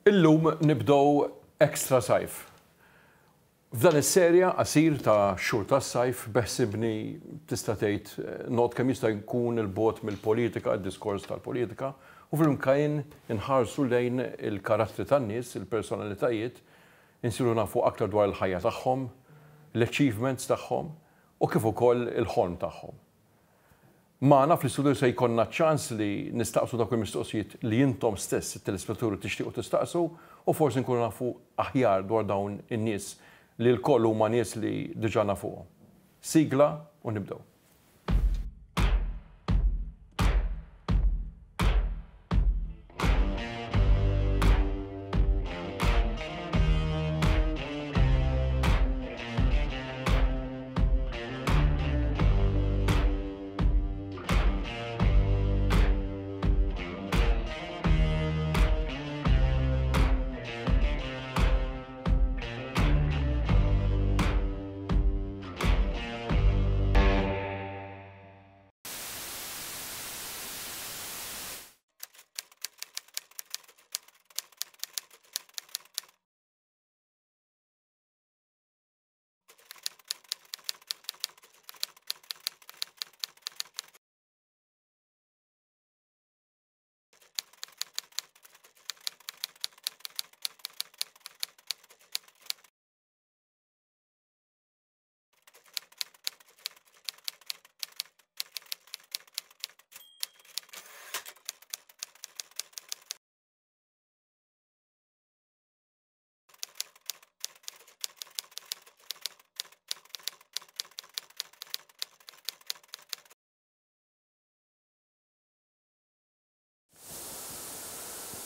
Illum nibdew Extra Sajf. F'dan is-serja qasir ta' xhur tas-sajf beħsibni tista' tgħid noqgħod kemm jista' jkun 'il bogħod mill-politika, id-diskors tal-politika, u fl-imkien inħarsu lejn il-karattri tan-nies, il-personalitajiet, insiru nafu aktar dwar il-ħajja tagħhom, l-achievements tagħhom u kif ukoll il-ħolm tagħhom. Magħna fl-istudio se jkollna ċ-ċans li nistaqsu dawk il-mistoqsijiet li intom stess, it-telespettaturi, tixtiequ tistaqsu u forsi nkunu nafu aħjar dwar dawn in-nies li lkoll huma nies li diġà nafuhom. Sigla u nibdew.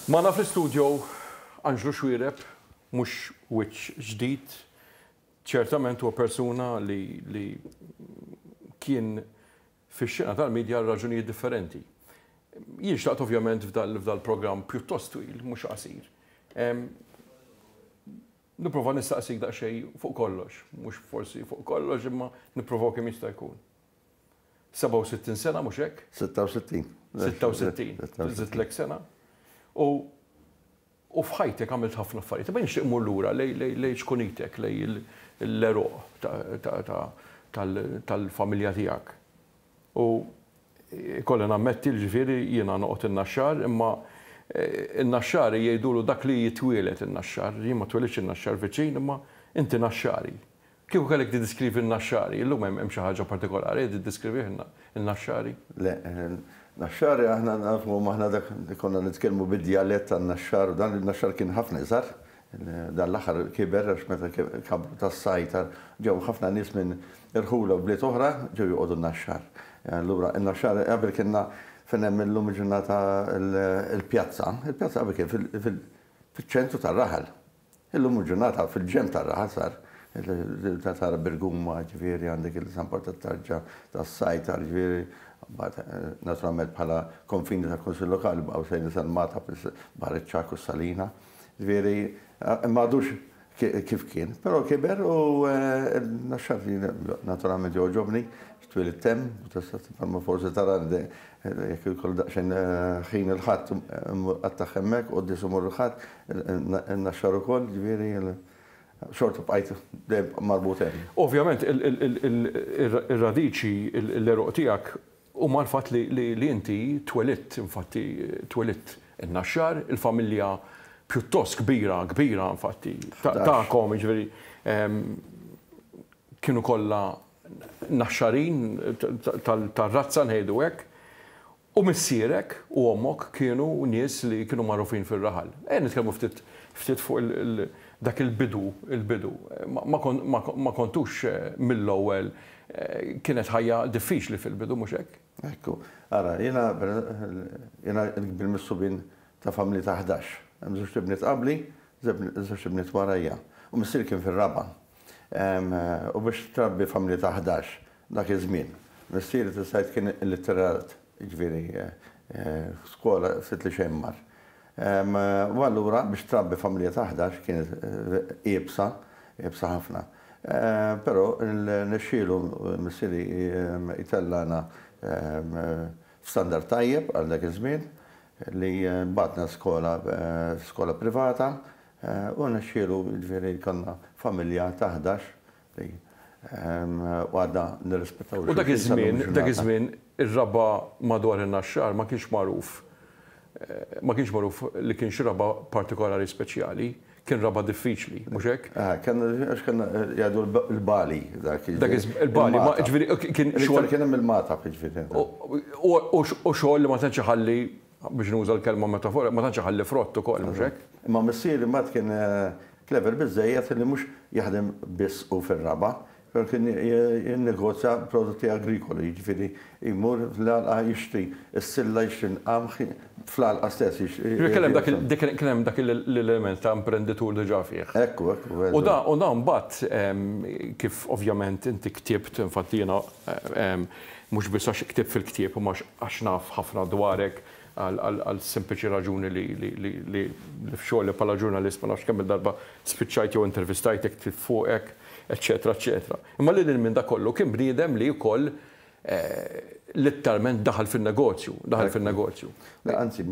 Magħna fl-istudio Anġlu Xuereb, mhux wiċċ ġdid, ċertament huwa persuna li, li kien fix-xena tal-media għal raġunijiet differenti. Jien xtaqt ovvjament f'dal-programm pjuttost twil, mhux qasir. Nipprova nistaqsik daqsxejn fuq kollox, mhux forsi fuq kollox imma nipprovaw kemm jista' jkun. 67 sena mhux hekk? 66. 66. Żidtlek sena. U u f'ħajtek għamilt ħafna affarijiet. Imma nixtieq mmur lura lejn ċkunitek, lejn l-għeruq tal-familja tiegħek. U ikolli nammetti ġifieri jiena noqgħod in-Naxxar, imma in-Naxxari jgħidulu dak li jitwieled in-Naxxar. Jien ma twelidtx in-Naxxar viċin, imma inti Naxxari. Kieku kellek tiddiskrivi n-Naxxari, illum hemm xi ħaġa partikolari li tiddiskrivih in-Naxxari? Le, Naxxari aħna nafuhom aħna dak li konna nitkellmu bid-djalett tan-Naxxar u dan in-Naxxar kien ħafna iżgħar, dan l-aħħar kiber għax meta kabru tas-sajt ġew ħafna nies minn irħula u bliet oħra ġew joqogħdu n-Naxxar. Allura n-Naxxar qabel kienna fejn hemm illum il-ġurnata l-pjazza, il-pjazza qabel kien fiċ-ċentru tar-raħal. Illum il-ġurnata fil-ġenb tar-raħal sar tara Birguma, ġifieri għandek il-San Pawl tat-Tarġa, tas-Sajtar, ġifieri mbagħad naturalment bħala konfini tal-Kunsill Lokali baqgħu sejrin sal-Magħtab, Baħar iċ-Ċagħak u s-Salina. Ġifieri ma għadux kif kien, però kiber u n-Naxxar naturalment jogħġobni, twilidt hemm u tista' bħalma forsi tara jekk ikolli daqsxejn ħin il-Ħadd immur qattagħ hemmhekk, quddies imur il-Ħadd, In-Naxxar ukoll, ġifieri xorta bqajt dejjem marbut hemm. Ovvjament ir-radiċi, l-għeruq tiegħek huma l-fatt li inti twelidt, infatti twelidt in-Naxxar, il-familja pjuttost kbira, kbira infatti tagħkom, jiġifieri kienu kollha Naxxarin tar-razza ngħidu hekk. U missierek u ommok kienu nies li kienu magħrufin fir-raħal. Ejja nitkellmu ftit ftit fuq dak il-bidu, il-bidu. Ma kontux mill-ewwel kienet ħajja diffiċli fil-bidu, mhux hekk? Ekku. Ara, jiena jiena l-kbir mis-subien ta' familja ta' 11. Hemm żewġt ibniet qabli, żewġt ibniet warajja. U missieri kien fir-raba'. U biex trabbi familja ta' 11 dak iż-żmien. Missieri tista' tgħid kien illitterat, jiġifieri skola ftit li xejn mar. U allura biex trabbi familja ta' 11 kienet iebsa, iebsa ħafna. Però rnexxielu missieri jtellagħna f'standard tajjeb għal dak iż-żmien. li bagħatna skola skola privata u rnexxielu jiġifieri jkollna familja ta' 11 li u għadna nirrispettaw U dak iż-żmien, dak iż-żmien ir-raba' madwar in-Naxxar ma kienx magħruf ma kienx magħruf li kien xi raba' partikolari speċjali, kien raba' diffiċli, mhux hekk? Eh, kien għax kien jgħidu l-bali dak. Dak il-bali, ma ġifieri kien xogħol. Kien hemm il-mata ġifieri. U xogħol li ma tantx iħalli biex nuża l-kelma metafora, ma tantx iħalli frott ukoll, mhux hekk? Imma missieri mbagħad kien clever biżżejjed li mhux jaħdem biss hu fir-raba', però kien jinnegozja prodotti agrikoli, jiġifieri jmur fl-għalqa jixtri s-silla, jixtri l-qamħ fl-għalqa stess. Kien hemm dak kien hemm dak l-element ta' imprenditur diġà fih. Ekku, ekku. U da u da mbagħad kif ovvjament inti ktibt, infatti jiena mhux biss għax ktibt fil-ktieb imma għax naf ħafna dwarek għal sempliċi raġuni li f'xogħli bħala ġurnalist ma nafx kemm-il darba spiċċajt jew intervistajtek, ktibt fuqek, eċċetera, eċċetera. Imma lil hinn minn dak kollu kien bniedem li wkoll litteralment daħal fin-negozju, daħal fin-negozju.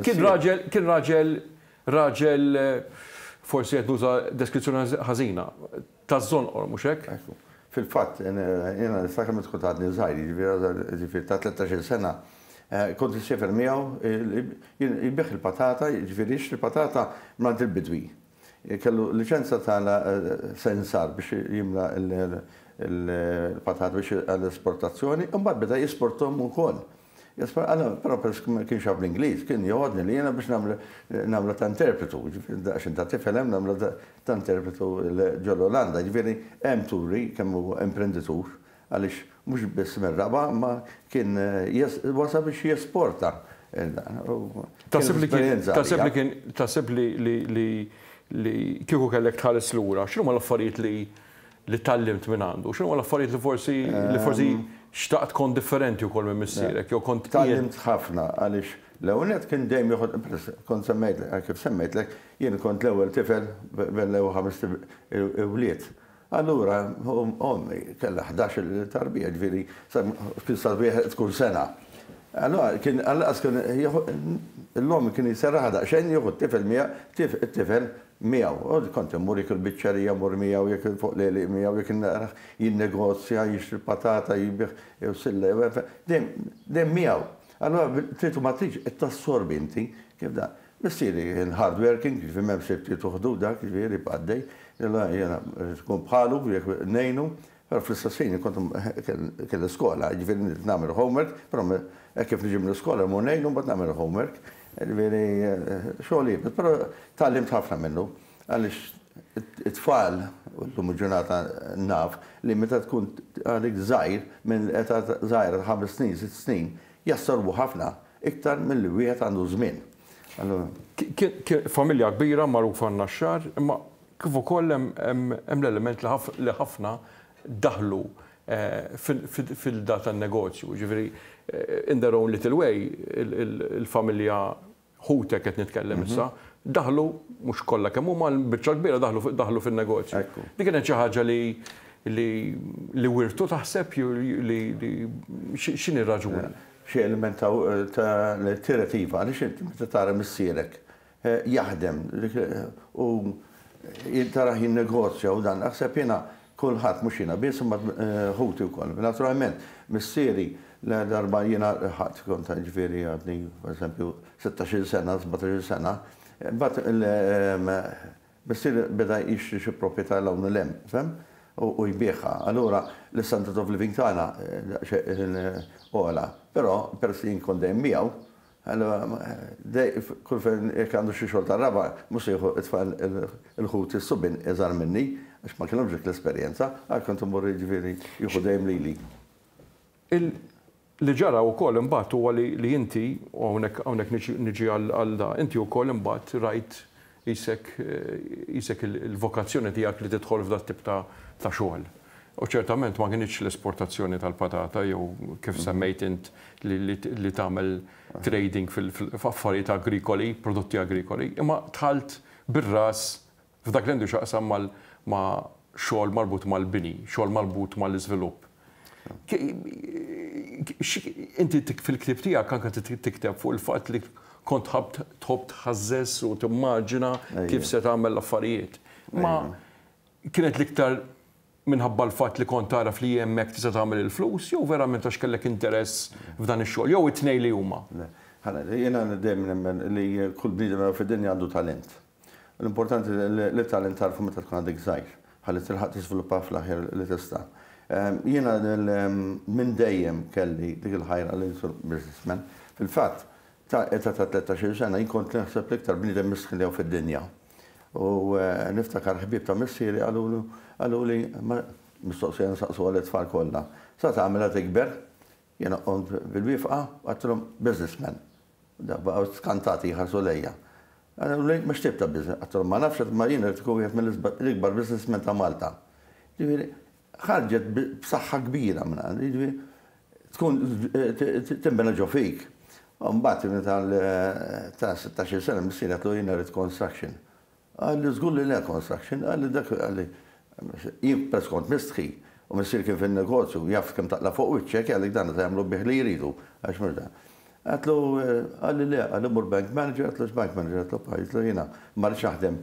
Kien raġel, kien raġel, raġel forsi qed nuża deskrizzjoni ħażina, taż-żonqor, mhux hekk? Ekku. Fil-fatt, jiena niftakar meta kont għadni żgħir, jiġifieri ta' 13-il sena, kont insiefer miegħu jbigħ il-patata, jiġifieri jixtri patata mingħand il-bidwi. Kellu liċenza ta' sensar biex jimla l-patata biex għall-esportazzjoni, u mbagħad beda jesporthom ukoll. Però peress ma kienx jaf l-Ingliż, kien joħodni li jiena biex nagħmlu ta' interpretu, għax inta tifel hemm nagħmlu ta' interpretu ġol-Olanda. Ġifieri hemm turi kemm hu imprenditur għaliex mhux biss mir-raba' ma kien wasal biex jesporta. Taħseb li kien taħseb li kien taħseb li li li kieku kellek tħares lura, x'inhuma l-affarijiet li li tgħallimt minn għandu? X'inhuma l-affarijiet li forsi li forsi xtaqt kont differenti wkoll minn missierek jew kont Tgħallimt ħafna għaliex l-ewwel nett kien dejjem joħod kont semmejt kif semmejtlek jien kont l-ewwel tifel bejn l-ewwel ħamest iwlied. Allura ommi kellha 11-il tarbija, ġifieri kien sar wieħed kull sena. Allura kien għall-anqas kien jieħu l-omm kien jserraħha daqsxejn jieħu t-tifel miegħu it-tifel miegħu. U kont immur jekk il-biċċerija mmur miegħu, jekk fuq l-għelieq miegħu, jekk narah jinnegozja, jixtri patata, jbigħ jew silla jew dejjem dejjem miegħu. Allura trid u ma tridx qed tassorbi inti kif dan. Missieri kien hard working, jiġifieri m'hemmx li tuħdu dak, jiġifieri jibqa' għaddej. Allura jiena rrid nkun bħalu jekk ngħinu, però fl-istess ħin kont kelli skola, jiġifieri rrid nagħmel homework, però hekk kif niġi mill-iskola mmur ngħinu mbagħad nagħmel homework. Jiġifieri xogħol iebes, però tgħallimt ħafna minnu għaliex it-tfal, u llum il-ġurnata naf, li meta tkun għalik żgħir, minn età żgħira ta' ħames snin, sitt snin, jassorbu ħafna iktar milli wieħed għandu żmien. Familja kbira magħrufa n-Naxxar, imma kif ukoll hemm l-element li ħafna daħlu fil-da tan-negozju. Ġifieri, in their own little way, il-familja ħutek qed nitkellem issa, daħlu, mhux kollha kemm huma, l-biċċa l-kbira daħlu fin-negozju. Dik kienet xi ħaġa li li wirtu taħseb li x'inhi r-raġuni? Xi element ta' tirettiva għaliex inti meta tara missierek jaħdem u tarah jinnegozja u dan, naħseb jiena kulħadd, mhux jiena biss imma ħuti wkoll. Naturalment, missieri la darba jiena ħadd kont ġifieri għadni pereżempju 16-il sena, 17-il sena, mbagħad missieri beda jixtri xi proprjetà 'l hawn u 'l hemm, fhem? U jbigħha. Allura l-istandard of living tagħna daqsxejn ogħla. Però peress li jien kont dejjem miegħu, Allura, kull fejn jekk għandu xi xogħol tar-raba', mhux se jieħu t-tfal il-ħut is-subien iżgħar minni, għax ma kellhomx dik l-esperjenza, għal kont immur jiġifieri jieħu dejjem lili. Li ġara wkoll imbagħad huwa li inti, u hawnhekk hawnhekk niġi għal da, inti wkoll imbagħad rajt qisek qisek il-vokazzjoni tiegħek li tidħol f'dat-tip ta' xogħol. U ċertament ma kinitx l-esportazzjoni tal-patata jew kif semmejt int li tagħmel trading f'affarijiet agrikoli, prodotti agrikoli, imma dħalt bir-ras f'dak li għandu x'jaqsam ma' xogħol marbut mal-bini, xogħol marbut mal-iżvilupp. Inti fil-ktieb tiegħek anke tikteb fuq il-fatt li kont tħobb tħobb tħażżeż u timmaġina kif se tagħmel l-affarijiet. Ma kienet l-iktar minħabba l-fatt li kont tagħraf li hemmhekk tista' tagħmel il-flus jew verament għax kellek interess f'dan ix-xogħol jew it-tnejn li huma? Le. Jiena dejjem nemmen li kull bniedem fid-dinja għandu talent. L-importanti li talent tagħrfu meta tkun għadek żgħir, ħalli tilħaq tiżviluppa fl-aħjar li tista'. Jiena minn dejjem kelli dik il-ħajra li nsir businessman. Fil-fatt, ta' età ta' 13-il sena jien kont naħseb l-iktar bniedem miskin li hawn fid-dinja. U niftakar ħbieb ta' missieri qalulu qaluli mistoqsija nsaqsuha lit-tfal kollha, Sa tagħmel la tikber? Jiena qomt bil-wieqfa u għedtilhom businessman. Baqgħu skantati jħarsu lejja. Qaluli ma x'tip ta' business? Għedtilhom ma nafx imma jien irrid ikun wieħed mill-ikbar businessmen ta' Malta. Ġifieri ħarġet b'saħħa kbira minn għandi, jiġifieri tkun tinbena ġo fik. U mbagħad meta ta' 16-il sena missieri għedtlu jiena rrid construction. Qalli żgur li le construction, qalli dak qalli jien peress kont mistħi u missieri kien fin-negozju jaf kemm taqla' fuq wiċċek jgħidlek dan se jagħmlu bih li jridu għax mhux dan. Għedtlu qalli le, qalli mur bank manager, għedtlu x'bank manager, għedtlu pa, għedtlu jiena ma rridx naħdem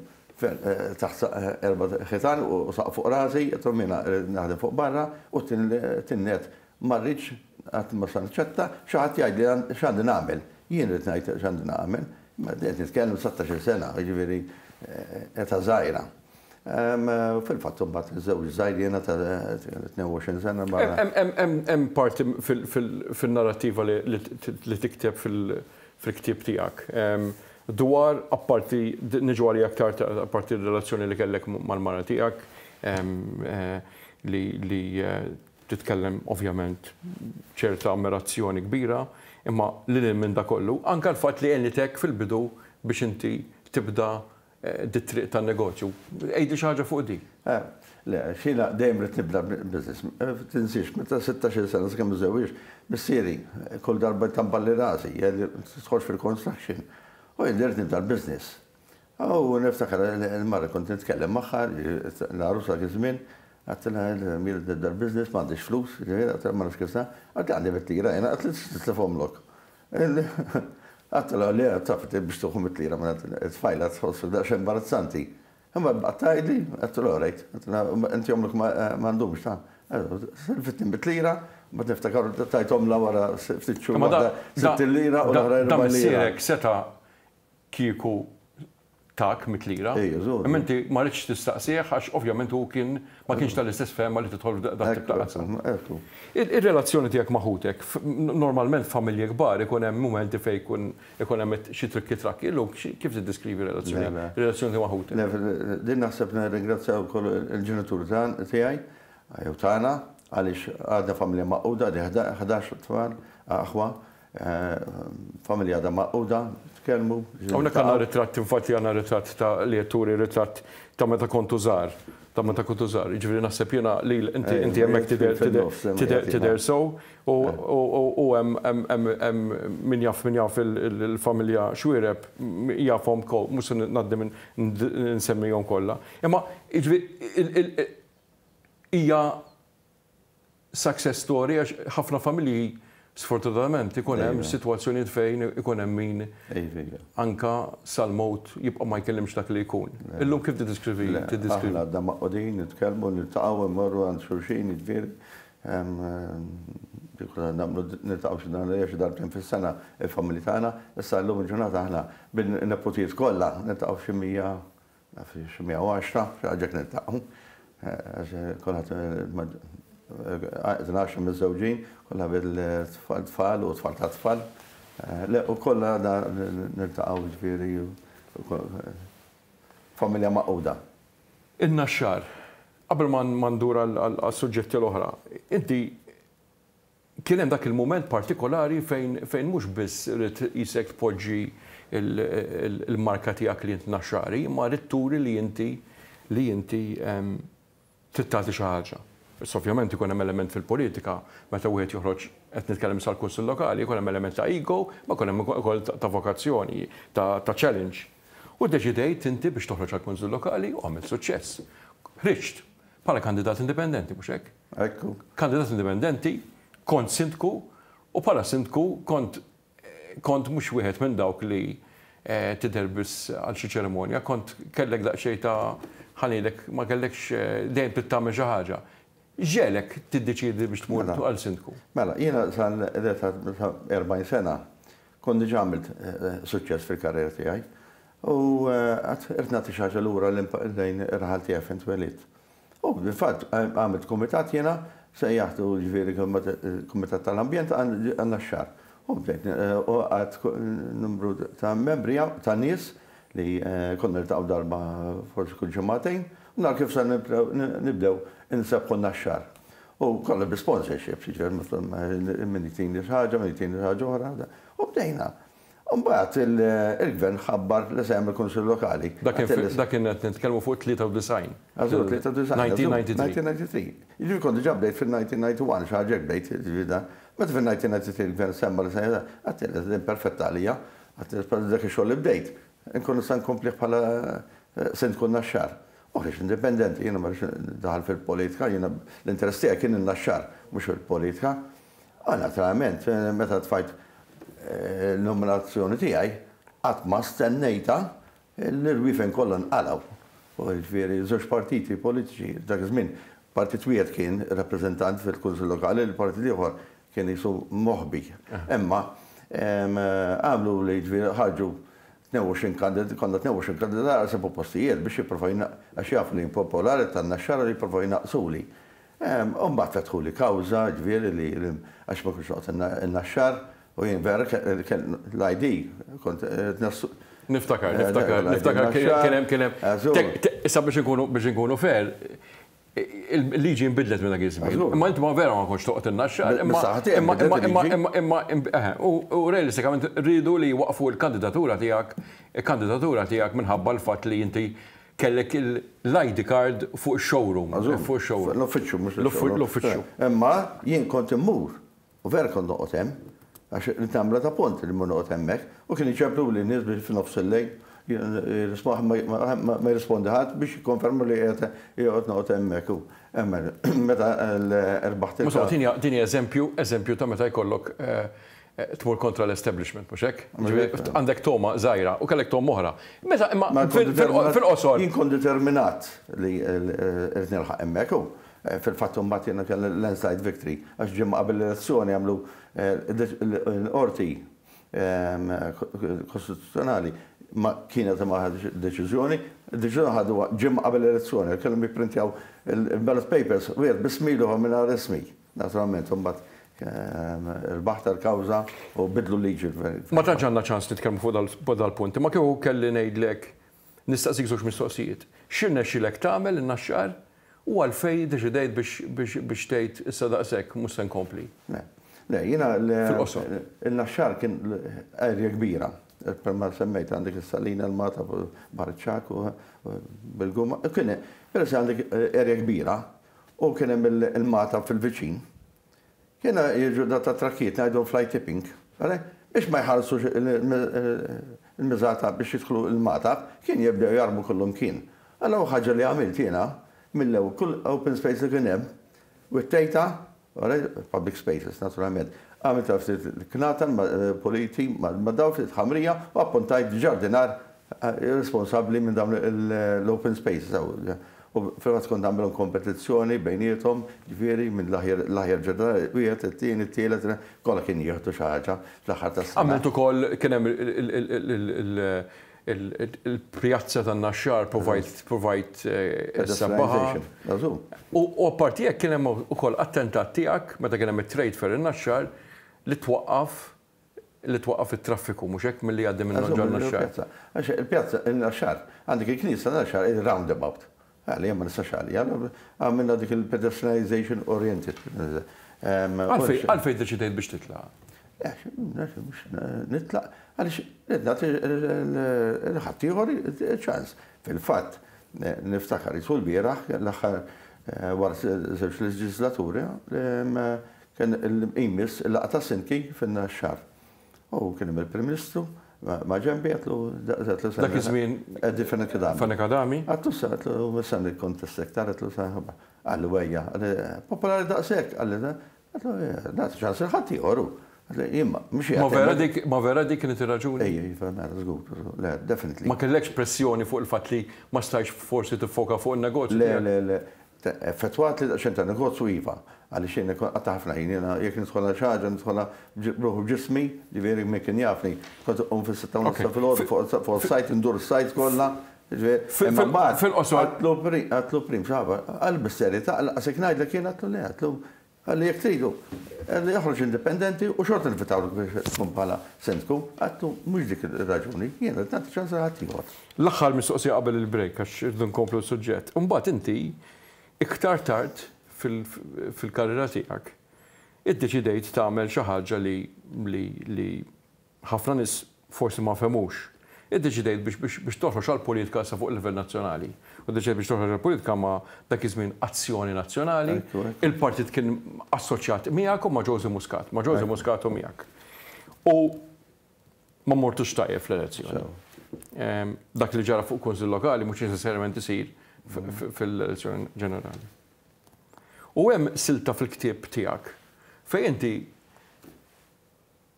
taħt erba' ħitan u saqaf fuq rasi, għedtlu jiena rrid naħdem fuq barra u t-tieni nett ma rridx qatt ma se naċċetta xi ħadd jgħidli x'għandi nagħmel. Jien rrid ngħid x'għandi nagħmel. Ma qed nitkellem 16-il sena, jiġifieri età żgħira. Fil-fatt imbagħad żewġ żgħir jiena ta' 22 sena. Hemm parti fil-narrattiva li tikteb fil-ktieb tiegħek dwar apparti niġu għalija aktar apparti r-relazzjoni li kellek mal-mara tiegħek li titkellem ovvjament ċerta ammirazzjoni kbira, imma lil hinn minn da kollu, anke l-fatt li għenitek fil-bidu biex inti tibda dit-triq tan-negozju. Għidli xi ħaġa fuq di. Le, jiena dejjem ridt nibda business. Tinsiex, meta 16-il sena sakemm iżżewwiġt, missieri kull darba jtamballi rasi, jgħidli tidħolx fil-construction. U jien ridt nibda l-business. U niftakar il-mara kont nitkellem magħha, l-għarusa dak iż-żmien, għedtilha jien ridt nibda l-business, m'għandix flus, għedtilha ma nafx kif sa, għedtli għandi mit-lira jiena, għedtli titlifhomlok. Għedtilha le, taf biex tieħu mit-lira minn it-tfajla tħoss daqsxejn imbarazzanti. Imma baqgħet tgħidli, għedtilha all right, għedtilha inti omlok m'għandhomx ta' Silfitni mit-lira, mbagħad niftakar tajthomlha wara ftit xhur waħda 60 lira u l-oħra 40 lira. Da missierek seta' kieku tak mit-lira. Ejja, żgur. Imma inti ma ridtx tistaqsih għax ovvjament hu kien ma kienx tal-istess fehma li tidħol f'dak tip ta' qasam. Ekku. Ir-relazzjoni tiegħek ma' ħutek, normalment f'familji kbar ikun hemm mumenti fejn ikun ikun hemm xi trikki trakki. Illum kif tiddeskrivi r-relazzjoni r-relazzjoni tiegħek ma' ħutek? Le, din naħseb nirringrazzja wkoll il-ġenituri tiegħi jew tagħna għaliex għadna familja magħquda, għandi 11 tfal, aħwa, Familja għadha magħquda, nitkellmu. Hawnhekk għandna ritratt, infatti għandna ritratt ta' li qed turi ritratt ta' meta kontu żgħar, ta' meta kontu żgħar. Jiġifieri naħseb jiena li inti inti hemmhekk tidher tidher tidher sew u hemm hemm min jaf min jaf il-familja Xuereb jafhom mhux se ngħaddi minn nsemmihom kollha. Imma jiġifieri hija success story għax ħafna familji sfortunatament ikun hemm sitwazzjonijiet fejn ikun hemm min anka sal-mewt jibqa' ma jkellimx dak li jkun. Illum kif tiddeskrivi tiddeskrivi? Aħna għadna magħqudin, nitkellmu, niltaqgħu, immorru għand xulxin, jiġifieri nagħmlu niltaqgħu xi darba xi darbtejn fis-sena il-familji tagħna. Issa llum il-ġurnata aħna bin-neputijiet kollha niltaqgħu xi 100 Naf xi 110, xi ħaġa hekk niltaqgħu. Għax kulħadd 12 miżżewġin, kollha bil-tfal tfal u tfal ta' tfal. Le, u kollha niltaqgħu ġifieri familja magħquda. In-Naxxar, qabel ma ndur għas-suġġetti l-oħra, inti Kien hemm dak il-mument partikolari fejn fejn mhux biss ridt qisek tpoġġi l-marka tiegħek li int Naxxari, imma ridt turi li inti li inti trid tagħti xi ħaġa. Issa ovvjament ikun hemm element fil-politika meta wieħed joħroġ qed nitkellem issa għall-Kunsill Lokali, ikun hemm element ta' ego, imma jkun hemm ukoll ta' vokazzjoni, ta' challenge. U ddeċidejt inti biex toħroġ għall-Kunsill Lokali u għamilt suċċess. Ħriġt bħala kandidat indipendenti, mhux hekk? Ekku. Kandidat indipendenti, kont sindku u bħala sindku kont kont mhux wieħed minn dawk li tidher biss għal xi ċerimonja, kont kellek daqsxejn ta' ħa ngħidlek ma kellekx dejjem trid tagħmel xi ħaġa. X'ġegħlek tiddeċiedi biex tmur Mela. għal sindku? Mela, jiena sal-età ta' 40 sena kont diġà għamilt suċċess fil-karriera tiegħi u għad irrid nagħti xi ħaġa lura lejn ir-raħal tiegħi fejn twelidt. U fil-fatt għamilt kumitat jiena, sejjaħtu jiġifieri Kumitat tal-Ambjent għan-Naxxar. U bdejt u għad numru ta' membri ta' nies li konna niltaqgħu darba forsi kull ġimgħatejn u naraw kif se nibdew insebbħu n-Naxxar. U kollha bi sponsorships, jiġifieri min jtini xi ħaġa, min jtini xi ħaġa oħra. U bdejna. U mbagħad il-Gvern ħabbar li se jagħmel Kunsill Lokali. Dak kien qed nitkellmu fuq 93. Għażul, 93. 1993. 1993. Jiġifieri kont diġà bdejt fil-1991, xi ħaġa hekk bdejt, jiġifieri dan. Meta fil-1993 il-Gvern semma li se jagħmel, għedt din perfetta għalija, għedt dak ix-xogħol li bdejt, inkun nista' nkomplih bħala Sindku Naxxar. U ħriġt indipendenti, jiena ma rridx daħal fil-politika, jiena l-interess tiegħi kien in-Naxxar, mhux il-politika. U naturalment, meta tfajt l-nominazzjoni tiegħi, qatt ma stennejtha l-irwiefen kollha nqalgħu. U jiġifieri żewġ partiti politiċi dak iż-żmien, partit wieħed kien rappreżentant fil-Kunsill Lokali, il-partit l-ieħor kien qisu moħbi. Imma għamlu li jiġifieri ħarġu 22 kandidat, konna 22 kandidat għal seba' postijiet biex jipprovaw għax jafu li jien popolari tan-Naxxar u jipprovaw jnaqqsuli. U mbagħad fetħuli kawża, ġifieri li għax ma kontx noqgħod in-Naxxar u jien vera l-ID kont qed Niftakar, niftakar, niftakar kien hemm kien hemm. Issa biex inkunu biex inkunu fair, il-liġi nbidlet minn dak iż-żmien. Imma inti ma vera ma kontx toqgħod in-Naxxar. Imma imma imma imma u realistikament riedu li jwaqqfu l-kandidatura tiegħek, il-kandidatura tiegħek minħabba l-fatt li inti Kellek l-ID card fuq ix-showroom. Fuq ix-showroom. L-uffiċċju, mhux ix-showroom. L-uffiċċju. Imma jien kont immur, u vera kont noqgħod hemm, għax ridt nagħmilha ta' punt li mmur noqgħod hemmhekk, u kienu jċempluli n-nies biex f'nofs il-lejl, ma jirrispondi ħadd biex jikkonferma li qiegħed qiegħed noqgħod hemmhekk. U meta rbaħt il-. Insomma, din hi eżempju, eżempju ta' meta jkollok tmur kontra l-establishment, mhux hekk? Għandek togħma żgħira u kellek togħma oħra. Meta imma fil-qosor. Jien kont determinat li rrid nilħaq hemmhekk u fil-fatt imbagħad jiena kelli landslide victory għax ġimgħa qabel l-elezzjoni għamlu l-qorti kostituzzjonali ma kienet ma ħaditx deċiżjoni, id-deċiżjoni ħaduha ġimgħa qabel l-elezzjoni, kellhom jipprintjaw il-ballot papers wieħed b'ismi u l-ieħor mingħajr ismi. Naturalment, imbagħad rbaħt l-kawża u bidlu l-liġi. Ma tantx għandna ċans nitkellmu fuq dal-punt, imma kieku kelli ngħidlek nistaqsik żewġ mistoqsijiet. X'irnexxielek tagħmel in-Naxxar u għalfejn iddeċidejt biex tgħid issa daqshekk mhux se nkompli? Le, le, jiena il-Naxxar kien area kbira. Bħalma semmejt għandek is-Salina, l-Magħtab, Baħar iċ-Ċagħaq u Bil-Guma. Kien peress li għandek area kbira, U kien hemm il-magħtab fil-viċin. Kienu jiġu da ta' trakkijiet ngħidhom fly tipping. Biex ma jħallsux il-miżata biex jidħlu l-magħtab, kien jibdew jarmu kullumkien. Allura ħaġa li għamilt jiena, mill-ewwel kull open space li kien hemm, wittejtha, public spaces naturalment, għamiltha ftit knatan puliti ma' dawl ftit ħamrija u appuntajt ġardinar responsabbli minn dawn l-open spaces. U fil-fatt kont nagħmilhom kompetizzjoni bejniethom, ġifieri minn l-aħjar ġenerali, wieħed, it-tieni, it-tielet, kollha kien jieħdu xi ħaġa fl-aħħar tas-sena. Għamilt ukoll kien hemm il-pjazza tan-Naxxar provajt provajt issebbaħha. U apparti hekk kien hemm ukoll attentat tiegħek meta kien hemm it-trade fair in-Naxxar li twaqqaf li twaqqaf it-traffiku, mhux hekk, milli jgħaddi minn ġol Naxxar. Għax il-pjazza, il-Naxxar, għandek il-knisja Naxxar il-roundabout. Għalli ma nistax għalli, għamilna dik il-pedestrianization oriented. Għalfejn deċidejt biex titlaq? Nitlaq, għaliex nagħti l-ħaddieħor ċans. Fil-fatt, niftakar jisu l-bieraħ, l-aħħar wara żewġ leġislaturi, Kien il-jmiss il-laqgħa tas-Sindki fin-Naxxar. U kien hemm il-Prim Ministru ma' ġenbi għedtlu għedtlu Dak iż-żmien Eddie Fenech Adami. Fenech Adami. Għedtlu sa għedtlu mhux se nikkontesta iktar għedtlu sa Qalli ejja, qalli popolari daqshekk, qalli għedtlu nagħti ċans lil ħaddieħor hu. Jien mhux Ma vera dik, ma vera dik kienet ir-raġuni? Ejja, iva, mela, żgur, le, definitely. Ma kellekx pressjoni fuq il-fatt li ma stajtx forsi tiffoka fuq in-negozju Le, le, le. Effettwat li daqsxejn ta' negozju iva, għaliex jien qatta' ħafna ħin, jiena jekk nidħol għal xi ħaġa nidħolha b'ruħi u b'ġismi, ġifieri min kien jafni, kont inqum fis-sitta u nofs ta' filgħodu fuq is-sajt indur is-sajt kollha, ġifieri. Imma mbagħad għedtlu prim xi ħaġa, qal bis-serjetà, lanqas jekk ngħidlek jien għedtlu le, għedtlu Qalli jekk tridu, qalli oħroġ indipendenti u xorta nivvitawlek biex tkun bħala sindku. Għedtlu mhux dik ir-raġuni, jien rrid nagħti ċans lil ħaddieħor. L-aħħar mistoqsija qabel il-break għax irridu nkomplu s-suġġett. Imbagħad inti iktar tard fil-karriera tiegħek iddeċidejt tagħmel xi ħaġa li li ħafna nies forsi ma fehmux. Iddeċidejt biex biex biex toħroġ għall-politika issa fuq livell nazzjonali. U ddeċidejt biex toħroġ għall-politika ma' dak iż-żmien Azzjoni Nazzjonali. Il-partit kien assoċjat miegħek u ma' Josey Muscat, ma' Josey Muscat u miegħek. U ma mortux tajjeb fl-elezzjoni. Dak li ġara fuq Kunsill Lokali mhux neċessarjament isir fil-elezzjoni ġenerali. U hemm silta fil-ktieb tiegħek fejn inti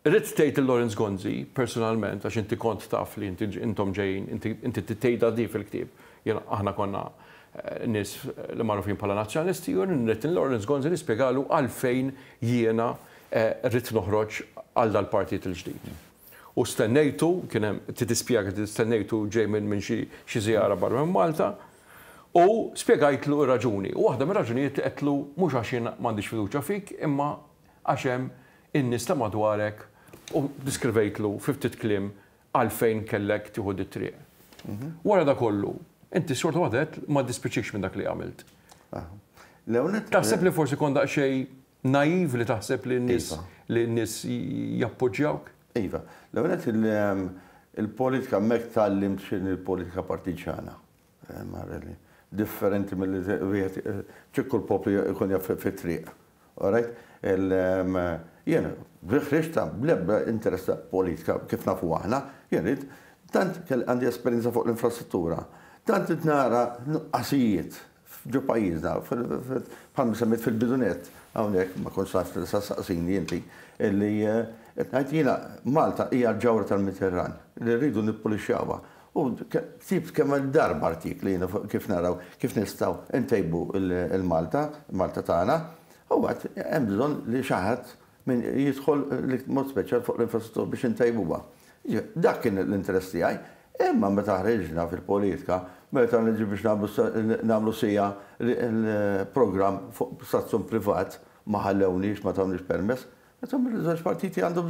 Ridt tgħid lil Lawrence Gonzi personalment għax inti kont taf li inti intom ġejjin, inti inti tgħidha di fil-ktieb, jiena aħna konna nies li magħrufin bħala Nazzjonalisti u ridt lil Lawrence Gonzi nispjegalu għalfejn jiena ridt noħroġ għal dal-partit il-ġdid. U stennejtu, kien hemm, tispjega stennejtu ġej minn minn xi xi żjara barra minn Malta u spjegajtlu r-raġuni. U waħda mir-raġunijiet għedtlu mhux għax jien m'għandix fiduċja fik imma għax hemm in-nies ta' madwarek u ddiskrivejtlu fi ftit kliem għalfejn kellek tieħu dit-triq. Wara da kollu, inti xorta waħda għedt ma ddispiċikx minn dak li għamilt. Taħseb li forsi kont daqsxejn naive li taħseb li n-nies li n-nies jappoġġjawk? Iva. L-ewwel nett il-politika hemmhekk tgħallimt x'inhi l-politika partiġġjana. Differenti milli wieħed ċikku l-poplu jkun jaf fit-triq. Alright? Jien ħriġt bl-ebda interess ta' politika kif nafu aħna, jien rrid tant għandi esperjenza fuq l-infrastruttura, tant qed nara nuqqasijiet ġo pajjiżna, bħalma semmejt fil-bidu nett hawnhekk ma kontx naf li sa ssaqsini inti, illi qed ngħid jiena Malta hija l-ġawhra tal-Mediterran li rridu nippulixxjawha. U ktibt kemm-il darba artikli jiena fuq kif naraw kif nistgħu ntejbu l-Malta, Malta tagħna, u għad hemm bżonn li xi ħadd min jidħol mod speċjal fuq l-infrastruttura biex intejbuha. Dak kien l-interess tiegħi. Imma meta ħriġna fil-politika, meta niġi biex nagħmlu siegħa l-programm fuq stazzjon privat, ma ħallewniex, ma tawniex permess, Insomma, l-żewġ partiti għandhom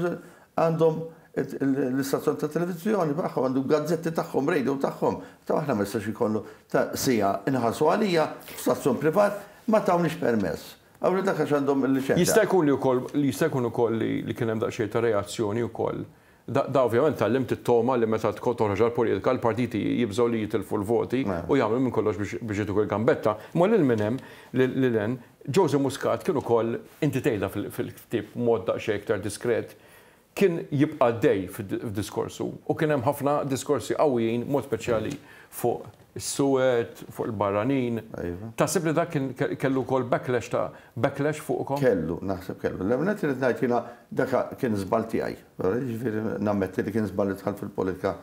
għandhom l-istazzjon ta' televiżjoni tagħhom, għandhom gazzetti tagħhom, radio tagħhom. Ta' aħna ma jistax ikollu ta' sija inħallsu għalija f'stazzjon privat ma tawniex permess. Allura dak għax għandhom il-liċenzja. Jista' jkun li wkoll jista' jkun ukoll li kien hemm daqsxejn ta' reazzjoni wkoll. Da ovvjament tgħallimt it-togħma li meta toħroġ għall-politika l-partiti jibżgħu li jitilfu l-voti u jagħmlu minn kollox biex jagħtuk il-gambetta. Imma lil min hemm lil hemm Josey Muscat kien ukoll, inti tgħidha fil-ktieb b'mod daqsxejn iktar diskret, kien jibqa' għaddej f'diskorsu u kien hemm ħafna diskorsi qawwijin b'mod speċjali fuq is-suwed, fuq il-barranin. Taħseb li dak kien kellu wkoll backlash ta' backlash fuqkom? Kellu, naħseb kellu. L-ewwel nett irrid ngħid jiena dak kien żball tiegħi. Jiġifieri nammetti li kien żball li dħalt fil-politika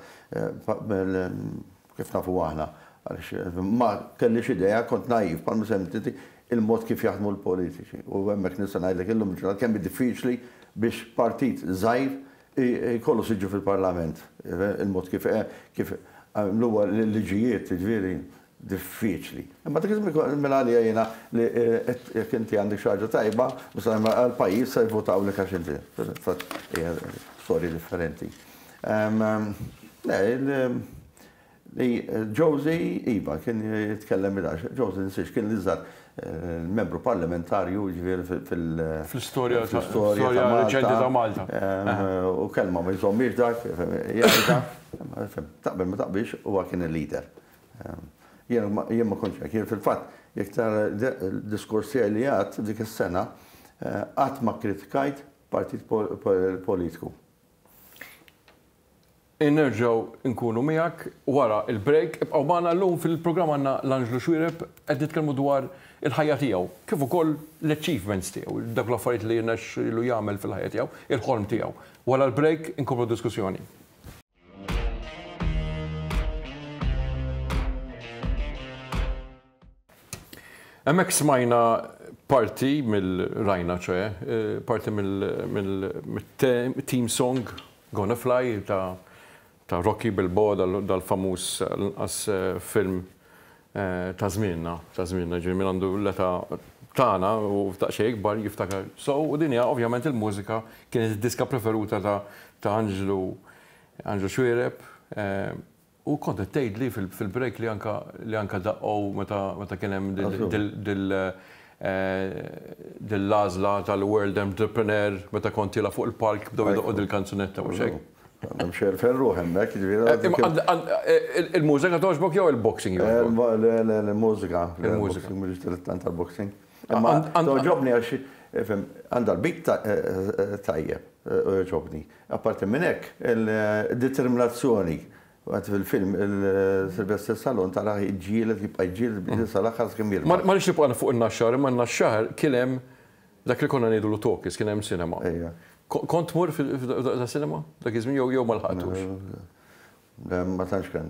kif nafu aħna, għaliex ma kellix idea, kont naiv, bħalma semmejt inti, il-mod kif jaħdmu l-politiċi. U hemmhekk nista' ngħidlek illum il-ġurnata kemm hi diffiċli biex partit żgħir jkollu siġġu fil-Parlament. Il-mod kif kif għamluha l-liġijiet, jiġifieri diffiċli. Imma dak iż-żmien minn għalija jiena li jekk inti għandek xi ħaġa tajba, għall-pajjiż se jvotawlek għax inti. Fil-fatt hija storja differenti. Le, li Josie, iva, kien jitkellem il Josie nsiex kien l-iżgħar membru parlamentarju ġifieri fil- Fl-istorja reċenti ta' Malta. U kelma ma jżommiex dak, jgħidha, taqbel ma taqbilx huwa kien il-leader. Jien ma kontx hekk, jien fil-fatt jekk tara d-diskors tiegħi li għadt dik is-sena, qatt ma kkritikajt partit politiku. Nerġgħu nkunu miegħek wara l-break. Ibqgħu magħna llum fil-programm għandna l-Anġlu Xuereb qed nitkellmu dwar il-ħajja tiegħu, kif ukoll l-achievements tiegħu, dawk l-affarijiet li rnexxielu jagħmel fil-ħajja tiegħu, il-ħolm tiegħu. Wara l-break inkomplu d-diskussjoni. Hemmhekk smajna parti mill rajna ċoe, parti mill-theme song Gonna Fly ta' ta' Rocky Balboa dal-famuż l-inqas film ta' żmienna, ta' żmienna, jiġifieri min għandu l-età tagħna u daqsxejn ikbar jiftakar sew u din hija ovvjament il-mużika kienet id-diska preferuta ta' ta' Anġlu Anġlu Xuereb. U kont qed tgħidli fil-break li anka li anka daqqgħu meta meta kien hemm dil dil-għażla tal-World Entrepreneur meta kont tiela' fuq il-palk bdew idoqqu dil-kanzunetta mhux hekk? Hemm xi ferruħ hemmhekk, jiġifieri. Il-mużika togħġbok jew il-boxing jogħġbok? Le, le, il-mużika. Il-mużika. M'iniex dilettant tal-boxing. Imma togħġobni għax ifhem għandha l-beat tajjeb u jogħġobni. Apparti minn hekk, il-determinazzjoni, għad fil-film il-Sylvester Stallone tarah jiġġieled, jibqa' jiġġieled sal-aħħar sakemm jirbaħ. Ma rridx nibqa' fuq in-Naxxar, imma n-Naxxar kien hemm dak li konna ngħidulu talkies, kien hemm cinema. Kont tmur f'da cinema dak iż-żmien jew ma lħaqtux? Le, ma tantx kien.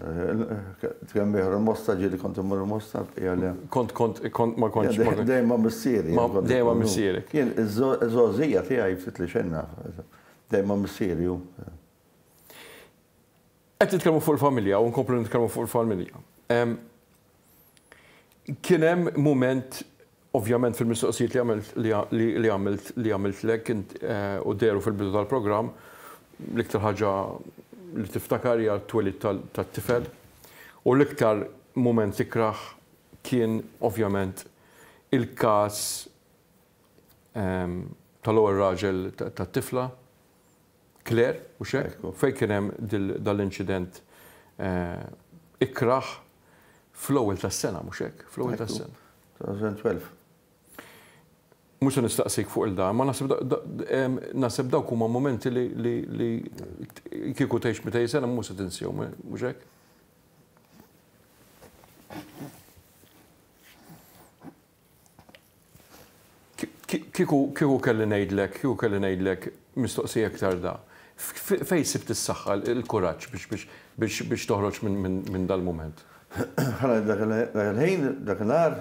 Kemm ieħor il-Mosta ġieli kont immur il-Mosta, bqija le. Kont kont kont ma kontx. Dejjem ma' missieri. Dejjem ma' missierek. Jien iż-żgħożija tiegħi ftit li xejn naf. Dejjem ma' missieri hu. Qed nitkellmu fuq il-familja u nkomplu nitkellmu fuq il-familja. Kien hemm mument ovvjament fil-mistoqsijiet li għamilt li għamilt li għamiltlek u dehru fil-bidu tal-programm, l-iktar ħaġa li tiftakar hija t-twelid tat-tifel u l-iktar mument ikrah kien ovvjament il-każ tal-ewwel raġel tat-tifla, Claire, hux hekk? Fejn kien hemm dal-inċident ikrah fl-ewwel tas-sena, mhux hekk? Fl-ewwel tas-sena. 2012. Mhux se nistaqsik fuq il-dan, ma naħseb naħseb dawk huma mumenti li li kieku tgħix 200 sena mhux se tinsihom, mhux hekk? Kieku kieku kelli ngħidlek, kieku kelli ngħidlek mistoqsija iktar da. Fejn sibt is-saħħa, il-kuraġġ biex biex biex biex toħroġ minn minn dal-mument? Ħa ngħid dak il-ħin, dakinhar,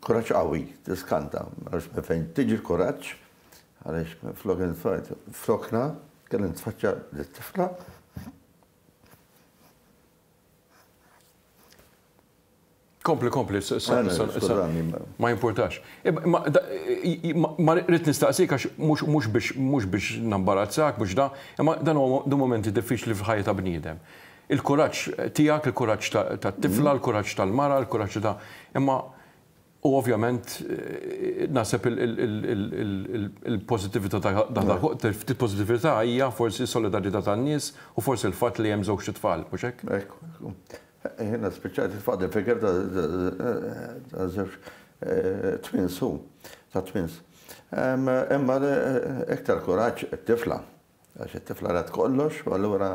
kuraġġ qawwi, tiskanta, ma nafx minn fejn tiġi l-kuraġġ, għaliex minflok flokna kelli nitfaċċa lit-tifla. Kompli, kompli, ma jimpurtax. Ma rrid nistaqsik għax mhux biex mhux biex nambarazzak, mhux da, imma dan huwa momenti diffiċli fil-ħajja ta' bniedem. Il-kuraġġ tiegħek, il-kuraġġ tat-tifla, il-kuraġġ tal-mara, il-kuraġġ ta' imma U ovvjament naħseb il-pożittività ta' ftit pożittività hija forsi s-solidarjetà tan-nies u forsi l-fatt li hemm żewġt itfal, mhux hekk? Ekku, ekku. Jiena spiċċajt it-tfal il-figure ta' żewġ twins hu, ta' twins. Imma iktar kuraġġ it-tifla, għax it-tifla rat kollox u allura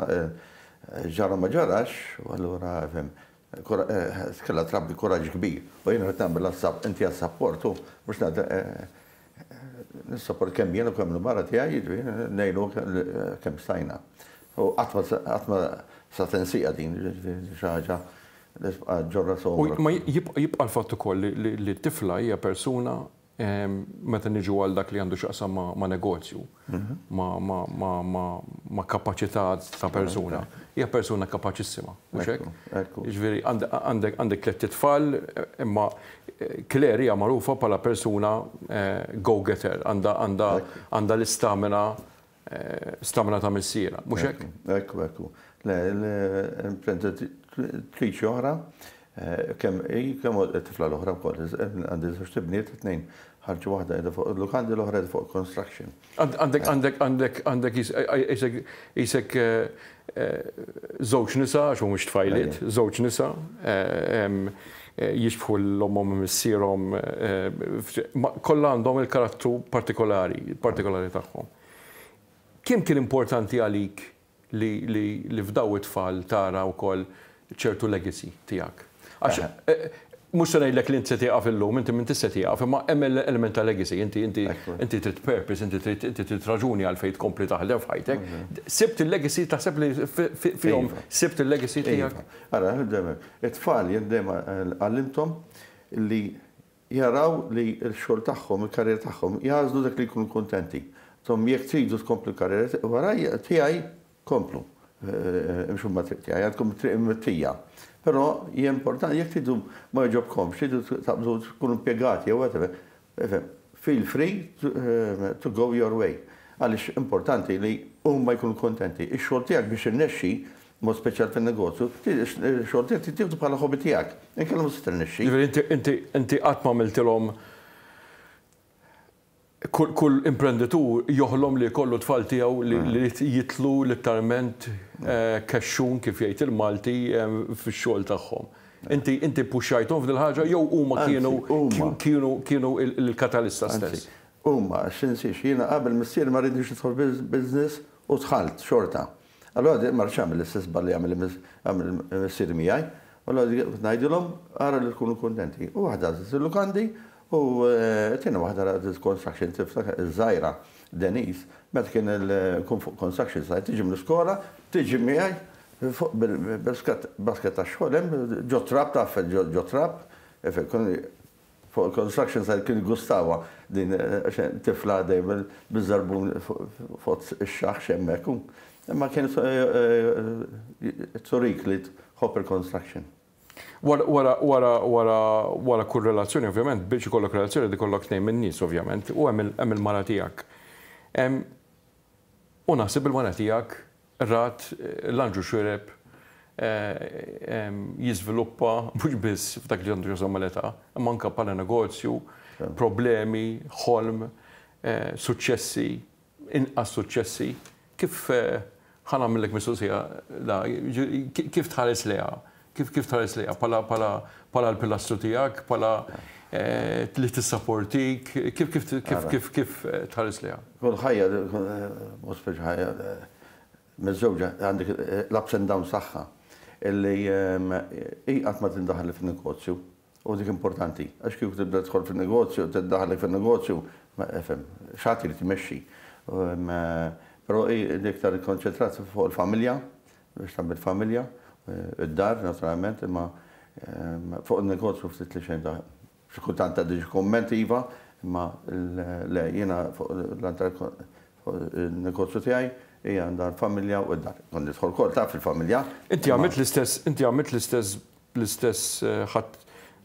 ġara ma ġarax u allura fim Kellha trabbi kuraġġ kbir. U jiena rrid nagħmilha inti għas-sapport u mhux nissapport kemm jien u kemm il-mara tiegħi, jiġifieri ngħinu kemm stajna. U qatt ma sa tinsieha din, jiġifieri xi ħaġa li tibqa' ġġorrha sa għomrok. Ma jibqa' l-fatt ukoll li t-tifla hija persuna meta niġu għal dak li għandu x'jaqsam ma' negozju, ma' kapaċità ta' persuna, hija persuna kapaċissima, mhux hekk? Jiġifieri għandek tlett itfal, imma Claire hija magħrufa bħala persuna go-getter, għandha l-istamina stamina ta' missierha, mhux hekk? Ekku, ekku. Le, l-imprenditriċi oħra, kemm hi, kemm it-tifla l-oħra wkoll, għandi żewġt ibniet, it-tnejn ħarġu waħda qiegħda fuq il-lukandi, l-oħra qiegħda fuq construction. Għandek, għandek, għandek, għandek qisek żewġ nisa, għax mhumiex tfajliet, żewġ nisa, jixbħu 'l ommhom u missierhom, kollha għandhom il-karattru partikolari, partikolari tagħhom. Kemm kien importanti għalik li li li f'daw it-tfal tara wkoll ċertu legacy tiegħek? Għax mhux se ngħidlek li int se tieqaf illum, inti m'intix se tieqaf, imma hemm element ta' legacy, inti inti inti trid purpose, inti trid inti trid raġuni għalfejn tkompli taħdem f'ħajtek. Sibt il-legacy, taħseb li fihom sibt il-legacy tiegħek? Ara, it-tfal jien dejjem għallimthom li jaraw li x-xogħol tagħhom, il-karriera tagħhom, jagħżlu dak li jkunu kuntenti. Tom jekk tridu tkomplu l-karriera warajja tiegħi, Komplu, imxu mat-triq tiegħi, għandkom it-triq imwittija. Però hija importanti jekk tridu ma jogħġobkomx, tridu taqbdu tkunu impjegati jew whatever, ifhem, feel free to go your way. Għaliex importanti li huma jkunu kuntenti. Ix-xogħol tiegħek biex irnexxi, mod speċjal fin-negozju, ix-xogħol tiegħek trid tieħdu bħala hobby tiegħek. Inkella mhux se tirnexxi. Jiġifieri inti inti qatt m'għamiltilhom Kull imprenditur joħlom li jkollu t-tfal tiegħu li jidħlu litteralment kexxun, kif jgħid il-Malti, fix-xogħol tagħhom. Inti inti ppuxxajthom f'dil ħaġa jew huma kienu kienu kienu l-katalista stess? Anzi, huma, għax tinsiex, jiena qabel missieri ma riednix nidħol fil-business u dħalt xorta. Allura ma rridx nagħmel l-istess żball li għamel missieri miegħi. Allura kont ngħidilhom ara li tkunu kuntenti. U waħda għażlet il-lukandi U t-tieni waħda rat il-construction tiftakar iż-żgħira Denise, meta kien nkun fuq construction site tiġi mill-iskola, tiġi miegħi fuq bil-basket tax-xogħol hemm ġo trab taf ġo trab, fuq il-construction site kien jgustawha din tifla dejjem biż-żarbun fuq ix-xaħx hemmhekk. Imma kien turik li tħobb il-construction. Wara, wara, wara, wara, wara kull relazzjoni, ovvjament, biex ikollok relazzjoni irid ikollok tnejn min-nies, ovvjament, u hemm hemm il-mara tiegħek. U naħseb il-mara tiegħek rat l-Anġlu Xuereb jiżviluppa mhux biss f'dak li għandu x'jaqsam mal-età, imma anke bħala negozju, problemi, ħolm, suċċessi, inqas suċċessi, kif ħa nagħmillek mistoqsija da, kif tħares lejha? Kif kif tħares lejha bħala bħala bħala l-pilastru tiegħek, bħala li tissaportik, kif kif kif kif kif tħares lejha? Kull ħajja, mod speċi ħajja miżżewġa għandek l-ups and downs tagħha illi hi qatt ma tindaħal fin-negozju. U dik importanti, għax kieku tibda tidħol fin-negozju, tiddaħħlek fin-negozju, ifhem, xi ħadd irid imexxi. Però hi iktar ikkonċentrat fuq il-familja, biex tagħmel familja, id-dar naturalment, imma fuq in-negozju ftit li xejn xi kultant tgħaddi xi kumment iva, imma le jiena fuq il-negozju tiegħi hija għandha l-familja u d-dar. Kont nidħol ukoll taf fil-familja. Inti għamilt l-istess, inti għamilt l-istess l-istess ħadt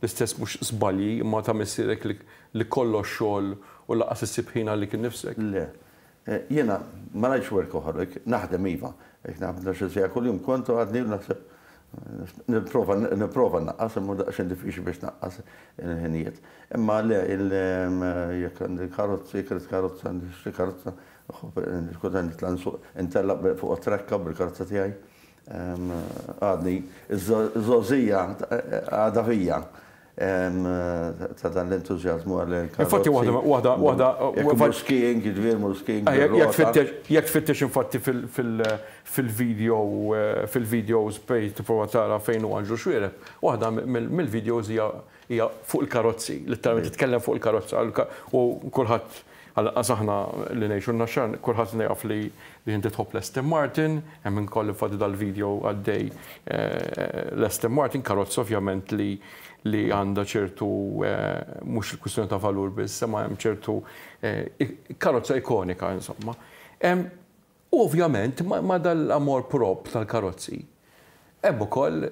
l-istess mhux żbalji imma ta' missierek li kollox xogħol u lanqas issib ħin għalik innifsek. Le. Jiena ma ngħidx workaholic, naħdem iva. Jekk naħdem 12-il siegħa kuljum kont u għadni naħseb nipprova nipprova nnaqqas imma daqsxejn diffiċli biex tnaqqas il-ħinijiet. Imma le jekk għandi karozza, jekk irid karozza, nixtri karozza, kultant nitla' nsuq intellaq fuq it-trakka bil-karozza tiegħi. Għadni, iż-żgħożija għadha fija ta' dan l-entużjażmu għal Infatti waħda waħda waħda Jekk imur skiing, jiġifieri mur skiing. Jekk tfittex infatti fil-video fil-videos fejn tipprova tara fejn hu Anġlu Xuereb, waħda mill-videos hija fuq il-karozzi, letteralment titkellem fuq il-karozza u kulħadd Għall-anqas aħna li ngħixu n-Naxxar, kulħadd jaf li inti tħobb l-Aston Martin, hemm ukoll infatti dal-video għaddej l-Aston Martin, karozza ovvjament li li għandha ċertu mhux il-kwistjoni ta' valur biss, imma hemm ċertu karozza ikonika insomma. U ovvjament ma' dal-amor prop tal-karozzi hemm ukoll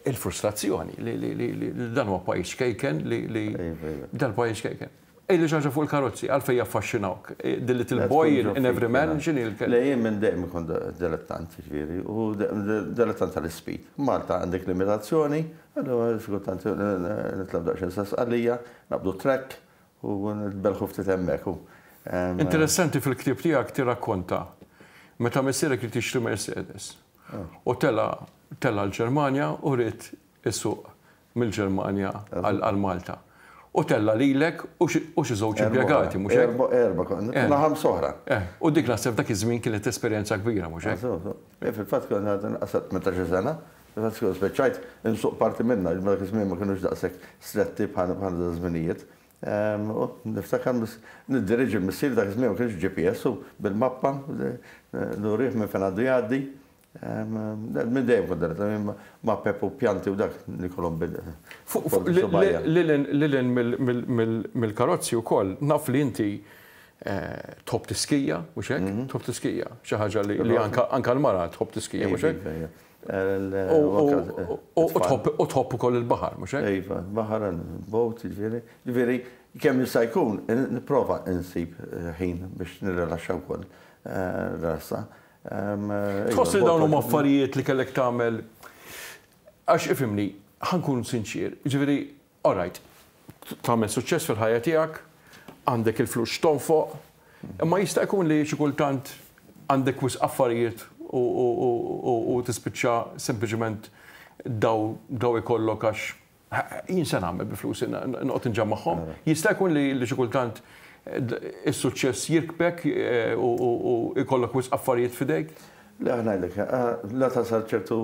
il-frustrazzjoni li dan huwa pajjiż ċkejken li dal-pajjiż ċkejken. Għidli xi ħaġa fuq il-karozzi, għalfejn jaffaxxinawk? The little boy in every man, x'inhi l-kelma? Le jien minn dejjem kont dilettant, jiġifieri, u dilettant tal-ispeed. Malta għandek limitazzjoni, allura xi kultant nitlgħu daqsxejn sa Sqallija, naqbdu t-track, U nitbellħu ftit hemmhekk u. Interessanti fil-ktieb tiegħek tirrakkonta meta missierek ried jixtri Mercedes u tela' tela' l-Ġermanja u ried isuq mill-Ġermanja għal Malta. U tella' lilek u xi żewġ impjegati, mhux hekk? Erbgħa, konna ħamsa oħra. U dik naħseb dak iż-żmien kienet esperjenza kbira, mhux hekk? Fil-fatt konna għadna nqas ta' 18-il sena, fil-fatt kont spiċċajt insuq parti minnha, għax dak iż-żmien ma kinux daqshekk stretti bħal daż-żminijiet. U niftakar niddiriġi l-missier dak iż-żmien ma kienx GPS u bil-mappa nurih minn fejn għandu jgħaddi. Minn dejjem kont darret, ma' Pep u pjanti u dak nikolhom bil. Lil hinn mill-karozzi wkoll, naf li inti tħobb tiskija, mhux hekk? Tħobb tiskija, xi ħaġa li anke l-mara tħobb tiskija, mhux hekk? U tħobb ukoll il-baħar, mhux hekk? Iva, baħar, boat, jiġifieri. Jiġifieri kemm jista' jkun nipprova nsib ħin biex nirrilaxxa wkoll rasa. Tħoss li dawn huma affarijiet li kellek tagħmel għax ifhimni, ħa nkun sinċier, jiġifieri, all right, tagħmel suċċess fil-ħajja tiegħek, għandek il-flus x'tonfoq, imma jista' jkun li xi kultant għandek wisq affarijiet u tispiċċa sempliċement daw daw ikollok għax Jien se nagħmel bi flusi noqgħod inġammagħhom. Jista' jkun li xi kultant is-suċċess jirkbek u jkollok wisq affarijiet f'idejk? Le ħa ngħidlek, la tasal ċertu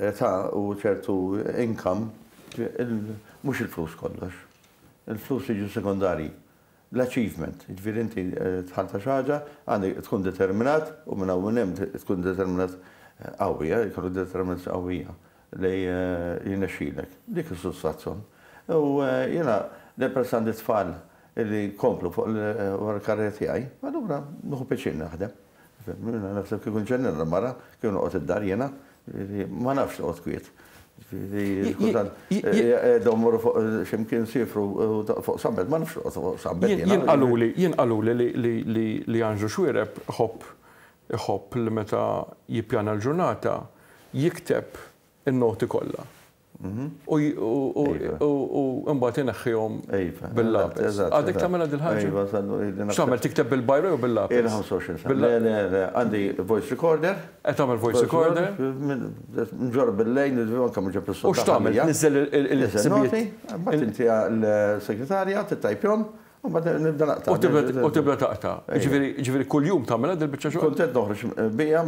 età u ċertu income, mhux il-flus kollox. Il-flus jiġu sekondarji. L-achievement, jiġifieri inti dħalt għal xi ħaġa, għandek tkun determinat u minn hawn u minn hemm tkun determinat qawwi, jkollok determinazzjoni qawwija li jirnexxilek. Dik is-sodisfazzjon. U jiena peress għandi tfal li jkomplu fuq wara l-karriera tiegħi, allura nieħu pjaċir naħdem. Jiena naħseb kieku nġennin l-mara, kieku noqgħod id-dar jiena, ma nafx noqgħod kwiet. Kultant qiegħda mmorru fuq x'imkien nsiefru fuq sunbed, ma nafx noqgħod fuq sunbed jiena. Jien qaluli, jien qaluli li Anġlu Xuereb iħobb iħobb li meta jippjana l-ġurnata jikteb in-noti kollha. U mbagħad ineħħihom bil-lapes. Għadek tagħmilha dil-ħaġa? X'tagħmel tikteb bil-biro jew bil-lapes? Ili 25 sena. Le, le, le, għandi voice recorder. Qed tagħmel voice recorder? Nġorr bil-lejl, anke mhux ġeb U x'tagħmel? Tniżżel il-ħsibijiet? Mbagħad intiha l-segretarja tittajpjhom u mbagħad nibda naqta'. U tibda taqta'. Jiġifieri kuljum tagħmilha dil-biċċa xogħol? Kuntent noħroġ bija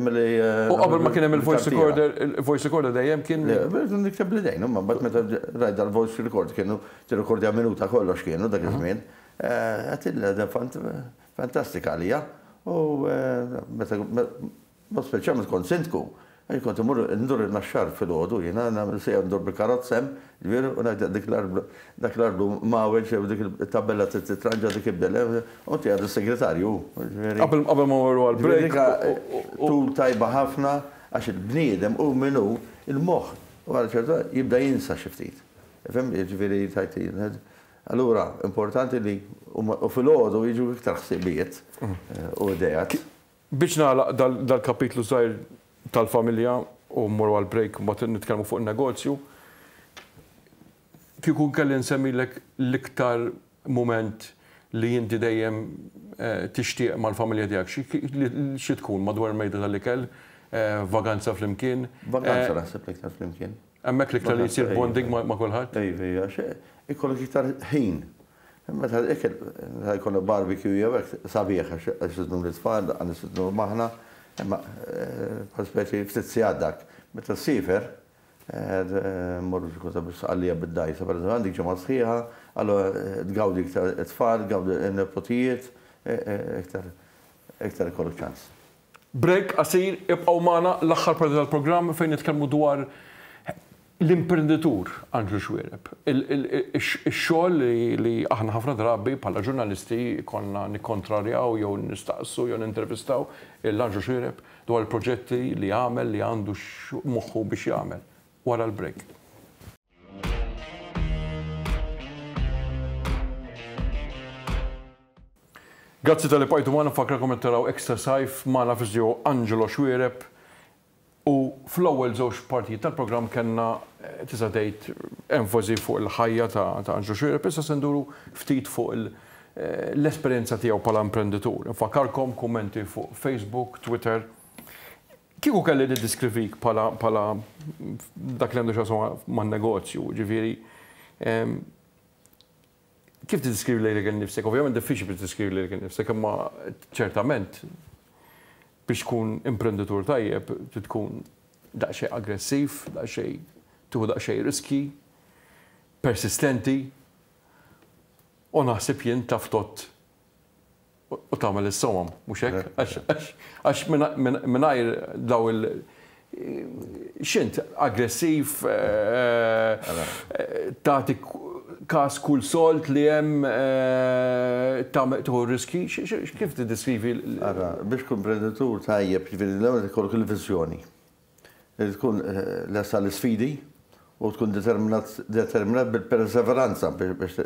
milli. U qabel ma kien hemm il-voice recorder, il-voice recorder dejjem kien. Le, nikteb bl-idejn, imma mbagħad meta rajt dal-voice record kienu tirrekordja minuta kollox kienu dak iż-żmien. Għedtilha fantastika għalija. U meta Mod speċjalment kont sindku, jien kont immur ndur in-Naxxar filgħodu jiena, nagħmel siegħa ndur bil-karozza hemm, ġifieri, u ngħid dik l-arblu, dak l-arblu mgħawweġ jew dik it-tabella trid titranġa dik ibdel, u inti għadu s-segretarju, ġifieri. Qabel qabel ma mmorru għall-break. Dik tul tajba ħafna għax il-bniedem hu min hu, il-moħħ wara ċertu jibda jinsa xi ftit. Ifhem, jiġifieri tgħid Allura importanti li u filgħodu jiġu iktar ħsibijiet u ideat. Biex nagħlaq dal-kapitlu żgħir tal-familja u mmorru għall-break u mbagħad nitkellmu fuq in-negozju, kieku kelli nsemmilek l-iktar mument li inti dejjem tixtieq mal-familja tiegħek, xi tkun madwar il-mejda tal-ikel, vaganza flimkien? Vaganza naħseb l-iktar flimkien. Hemmhekk l-iktar li jsir bonding ma' kulħadd? Iva, iva, għax ikollok iktar ħin. Meta l-ikel, meta jkollna barbecue jew hekk, sabiħ għax nistednu lit-tfal, daqqa nistednuhom aħna, imma bħal speċi ftit sigħat dak. Meta ssiefer, mmorru xi kota bis-Sqallija bid-dgħajsa, pereżempju, għandek ġimgħa sħiħa, allura tgawdi iktar it-tfal, tgawdi n-nepotijiet, iktar iktar ikollok ċans. Break qasir, ibqgħu magħna l-aħħar parti tal-programm fejn nitkellmu dwar l-imprenditur Anġlu Xuereb. Ix-xogħol li aħna ħafna drabi bħala ġurnalisti konna nikkontrarjaw jew nistaqsu jew nintervistaw lil Anġlu Xuereb dwar il-proġetti li għamel li għandu moħħu biex jagħmel. Wara l-break. Grazzi talli bqajtu magħna, nfakkarkom qed taraw Extra Sajf magħna fi Angelo Xuereb u fl-ewwel żewġ partijiet tal-programm kellna tista' tgħid enfasi fuq il-ħajja ta' Angelo Xuereb, issa se nduru ftit fuq l-esperjenza tiegħu bħala imprenditur. Nfakkarkom kummenti fuq Facebook, Twitter. Kieku kelli niddiskrivik bħala bħala dak li għandu x'jaqsam man-negozju, ġifieri Kif tiddiskrivi lilek innifsek? Ovvjament diffiċli biex tiddeskrivi lilek innifsek, imma ċertament biex tkun imprenditur tajjeb trid tkun daqsxejn aggressiv, daqsxejn tieħu daqsxejn riski, persistenti u naħseb jien taf tgħodd u tagħmel is-somom, mhux hekk? Għax mingħajr daw il- x'int aggressiv, tagħti każ kull sold li hemm, tagħmel tieħu riski, kif tiddeskrivi? Ara, biex tkun imprenditur tajjeb, jiġifieri l-ewwel ikollok il-viżjoni. Li tkun lest għall-isfidi u tkun determinat determinat bil-perseveranza biex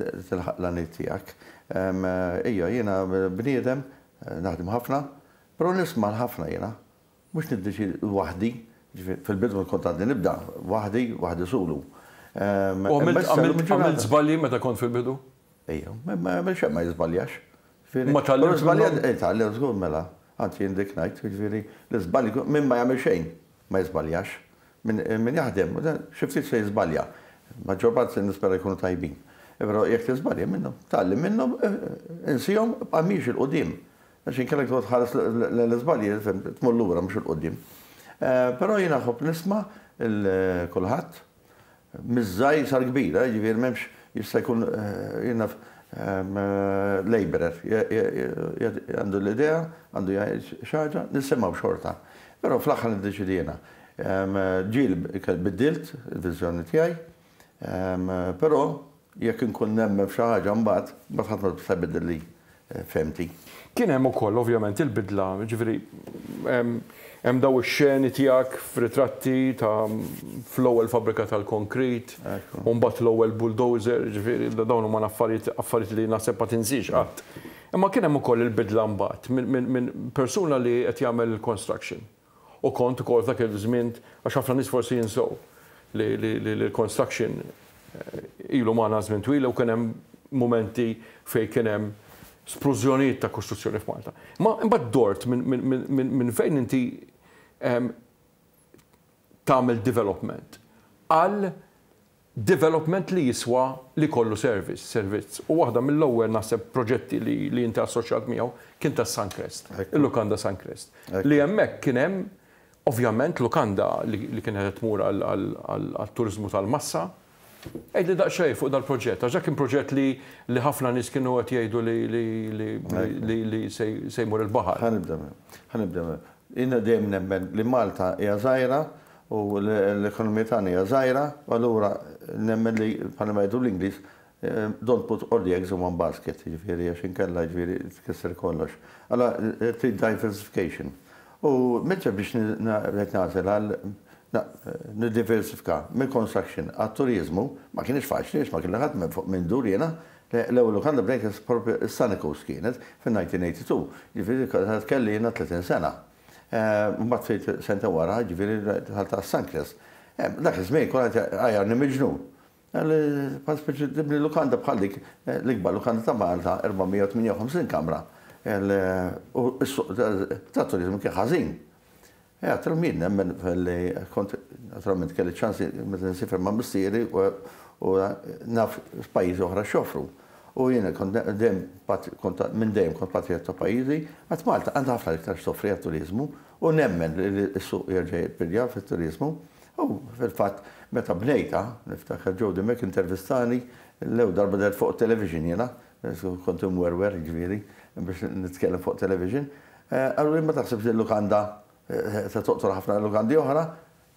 tilħaq l-għanijiet tiegħek. Ija, jiena bniedem naħdem ħafna, però nisma' ħafna jiena. Mhux niddeċiedi waħdi, fil-bidu kont għadni nibda waħdi, waħdi sulu. U għamilt żbalji meta kont fil-bidu? Ejja, ma jagħmel xejn ma jiżbaljax. Ma tgħallimx minnhom? Eh, tgħallimt żgur mela. Anzi jien dik ngħid, jiġifieri l-iżbalji min ma jagħmel xejn ma jiżbaljax. Min jaħdem xi ftit se jiżbalja. Maġġor parti nispera jkunu tajbin. Però jekk tiżbalja minnhom, tgħallem minnhom, insihom, ibqa' miexi 'l quddiem. Għax inkella jekk toqgħod tħares l-iżbalji, tmur lura mhux 'il quddiem. Però jiena nħobb nisma' 'l kulħadd. Miż-żgħir sal-kbir, jiġifieri m'hemmx jista' jkun jien naf labourer għandu l-idea, għandu jgħid xi ħaġa, nisimgħu xorta. Però fl-aħħar niddeċiedi jiena. Ġieli biddilt il-viżjoni tiegħi, però jekk inkun nemmen f'xi ħaġa mbagħad, mbagħad ħadd ma jista' jbiddilli fehmti. Kien hemm ukoll ovvjament il-bidla, jiġifieri hemm daw ix-xeni tiegħek f'ritratti ta' fl-ewwel fabbrika tal-konkrit, u mbagħad l-ewwel bulldozer, jiġifieri dawn huma affarijiet affarijiet li naħseb ma tinsiex qatt. Imma kien hemm ukoll il-bidla mbagħad minn persuna li qed jagħmel il-construction U kont ukoll f'dak iż-żmien, għax ħafna nies forsi jinsew li l-construction ilu magħna żmien twil u kien hemm mumenti fejn kien hemm splużjonijiet ta' kostruzzjoni f'Malta. Ma imbagħad dort minn fejn inti tagħmel development għal development li jiswa li jkollu service, servizz. U waħda mill-ewwel naħseb proġetti li li inti assoċjat miegħu kien tas-Suncrest, il-lukanda Suncrest. Li hemmhekk kien hemm ovvjament lukanda li li kienet qed tmur għat-turiżmu tal-massa. Għidli daqsxejn fuq dal-proġett, għax dak kien proġett li li ħafna nies kienu qed jgħidu li li li li se jmur il-baħar. Ħa nibda, ħa nibda. Jiena dejjem nemmen li Malta hija żgħira U l-ekonomija tagħna hija żgħira, u allura nemmen li bħalma jgħidu l-Ingliż, don't put all the eggs in one basket, jiġifieri għax inkella jiġifieri tkisser kollox. Allura trid diversification. U meta biex qed nagħżel għal niddiversifika mill-construction għat-turiżmu, ma kienx faċli għax ma kien ħadd minn fuq minn dur jiena. L-ewwel lukanda bdejt propju s-Sunny Coast kienet fin-1982, jiġifieri kelli jiena 30 sena. Mbagħad ftit sentejn wara, jiġifieri dħalt għas-Suncrest. Dak iż-żmien kulħadd għajarni miġnun. Bħal speċi tibni lukanda bħal dik, l-ikbar lukanda ta' Malta, 458 kamra. U s-suq tat-turiżmu kien ħażin. Għedtilhom jien nemmen li kont naturalment kelli ċans meta nsifer ma' missieri u naf pajjiżi oħra x'joffru. U jiena kont dejjem kont minn dejjem kont patrijott ta' pajjiżi, għad Malta għandha ħafna iktar x'toffri għat-turiżmu u nemmen li s-suq jerġa' jirpilja fit-turiżmu. U fil-fatt meta bnejtha, niftakar Joe Dimech intervistani l-ewwel darba dehrt fuq it-television jiena, kont imwerwer jiġifieri biex nitkellem fuq television, qaluli ma taħsibx li l-lukanda se toqtol ħafna lukandi oħra?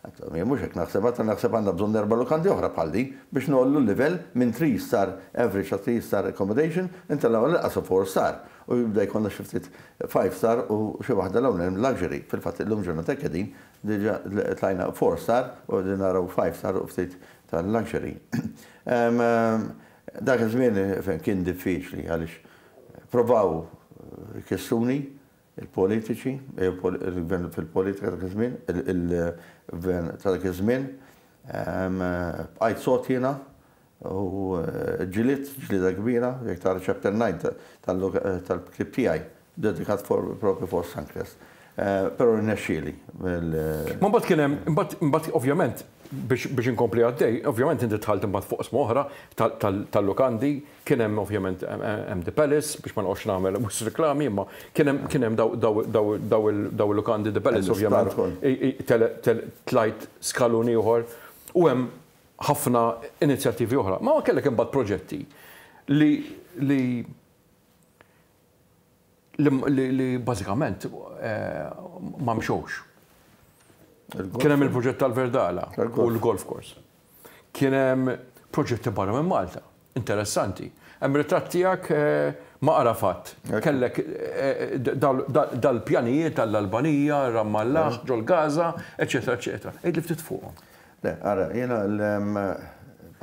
Jien mhux hekk naħseb, għad naħseb għandna bżonn erba' lukandi oħra bħal din biex ngħollu l-livell minn three star average ta' three star accommodation intellgħu għall-inqas four star u jibda jkollna xi ftit five star u xi waħda 'l hawn hemm luxury. Fil-fatt illum ġurnata hekk qegħdin, diġà tlajna four star u qegħdin naraw five star u ftit ta' luxury. Dak iż-żmien kien diffiċli għaliex provaw ikissruni Il-politiċi, il-gvern fil-politika dak iż-żmien, il-gvern ta' dak iż-żmien, bqajt sod jiena u ġġilidt ġlieda kbira, jekk tara chapter 9 tal-ktieb tiegħi dedikat propju fuq Suncrest. Però rnexxieli. Ma mbagħad kien hemm, imbagħad ovvjament Biex inkompli għaddej, ovvjament inti dħalt imbagħad fuq oqsma oħra tal-lukandi, kien hemm ovvjament hemm The Palace, biex ma noqgħodx nagħmel wisq riklami, imma kien hemm kien hemm daw il-lukandi The Palace ovvjament tlajt skalun ieħor u hemm ħafna inizjattivi oħra. Ma kellek imbagħad proġetti li li li bażikament ma mxewx. Kien hemm il-proġett tal-Verdala u l-golf course. Kien hemm proġetti barra minn Malta, interessanti. Hemm ritratt tiegħek ma' Arafat. Kellek dal-pjanijiet tal-Albanija, Ramallah, ġol-Gaza, eċetera, eċetera. Għidli ftit fuqhom. Le, ara, jiena l.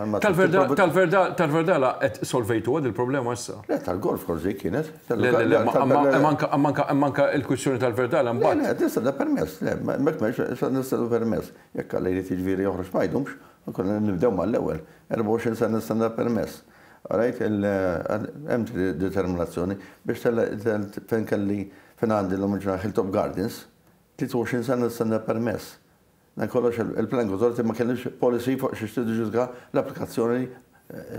Tal-Verdala qed solvejtuha dil-problema issa? Le, tal-golf course dik kienet. Le, le, le, imma anka l-kwistjoni tal-Verdala mbagħad. Le, le, tista' permess, le, hemmhekk m'hemmx, issa nistennew permess. Jekk Alla jrid jiġifieri joħroġ ma jdumx, konna nibdew mal-ewwel. 24 sena nistenna permess. Rajt, hemm determinazzjoni biex fejn kelli fejn għandi llum il-ġurnata Hilltop Gardens, 23 sena nistenna permess. Dan kollox il-Planning Authority ma kellhiex policy fuq xiex tiġġudika l-applikazzjoni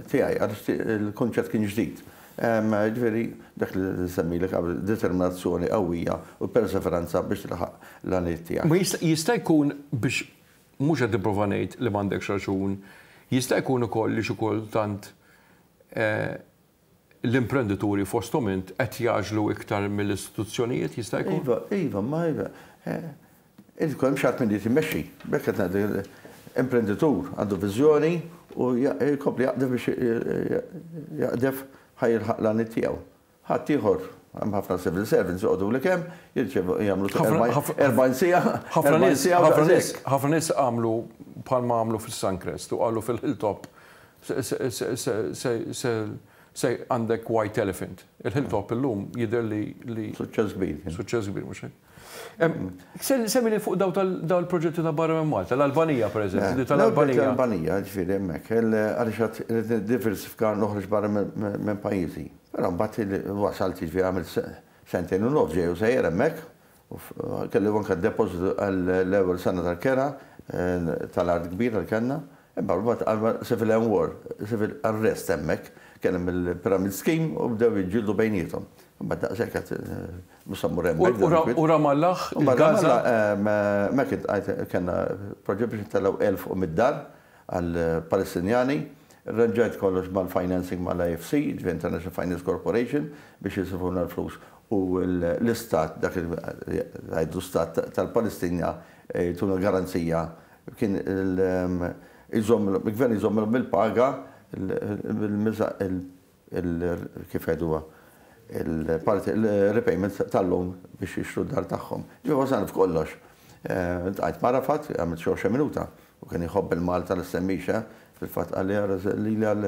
tiegħi għaliex il-kunċett kien ġdid. Jiġifieri dak li nsemmilek qabel, determinazzjoni qawwija u perseveranza biex tilħaq l-għanijiet tiegħek. Ma jista' jkun biex mhux qed nipprova ngħid li m'għandekx raġun, jista' jkun ukoll li xi kultant l-imprendituri fosthom int qed jagħġlu iktar mill-istituzzjonijiet jista' jkun? Iva, iva, ma iva. Irid ikun hemm xi ħadd min irid imexxi. B'hekk qed ngħid imprenditur għandu viżjoni u jkompli jaqdef biex jaqdef ħa jilħaq l-għaniet tiegħu. Ħaddieħor, hemm ħafna civil servants joqogħdulek hemm, jirċievu jagħmlu 40 siegħa, 40 siegħa u daqshekk. Ħafna nies għamlu bħalma għamlu fis-Suncrest u qalu fil-Hilltop Se għandek white elephant. Il-Hilltop illum jidher li. Suċċess kbir. Suċċess kbir, mhux hekk? Semmili fuq daw il-proġetti ta' barra minn Malta, l-Albanija pereżempju, tal-Albanija. L-Albanija, ġifieri hemmhekk, għaliex għad irrid niddiversifika noħroġ barra minn pajjiżi. Però mbagħad wasalt jiġifieri għamilt sentejn u nofs ġej u sejjer hemmhekk Kelli anke depożitu għall-ewwel sena tal-kera tal-art kbira li kellna. Imma mbagħad għamel civil and war, civil unrest hemmhekk. Kien hemm il-pyramid scheme u bdew jiġġieldu bejniethom. Imbagħad daqshekk qed mhux se mmur hemmhekk. U Ramallah, il-Gaza? Hemmhekk kellna proġett biex intellgħu 1,100 dar għall-Palestinjani. Irranġajt kollox mal-financing mal-IFC, jiġifieri International Finance Corporation, biex jisrfulna l-flus u l-istat, dak li jgħidu stat tal-Palestina jtuna garanzija kien il-gvern jżommilhom il-paga kif jgħiduha, il-parti, il-repayment tal-loan biex jixtru d-dar tagħhom. Ġifieri wasalna f'kollox. Ltqajt ma' Arafat, għamilt xi 20 minuta, u kien iħobb il-Malta li semmix, eh. Fil-fatt qalli ara lili għal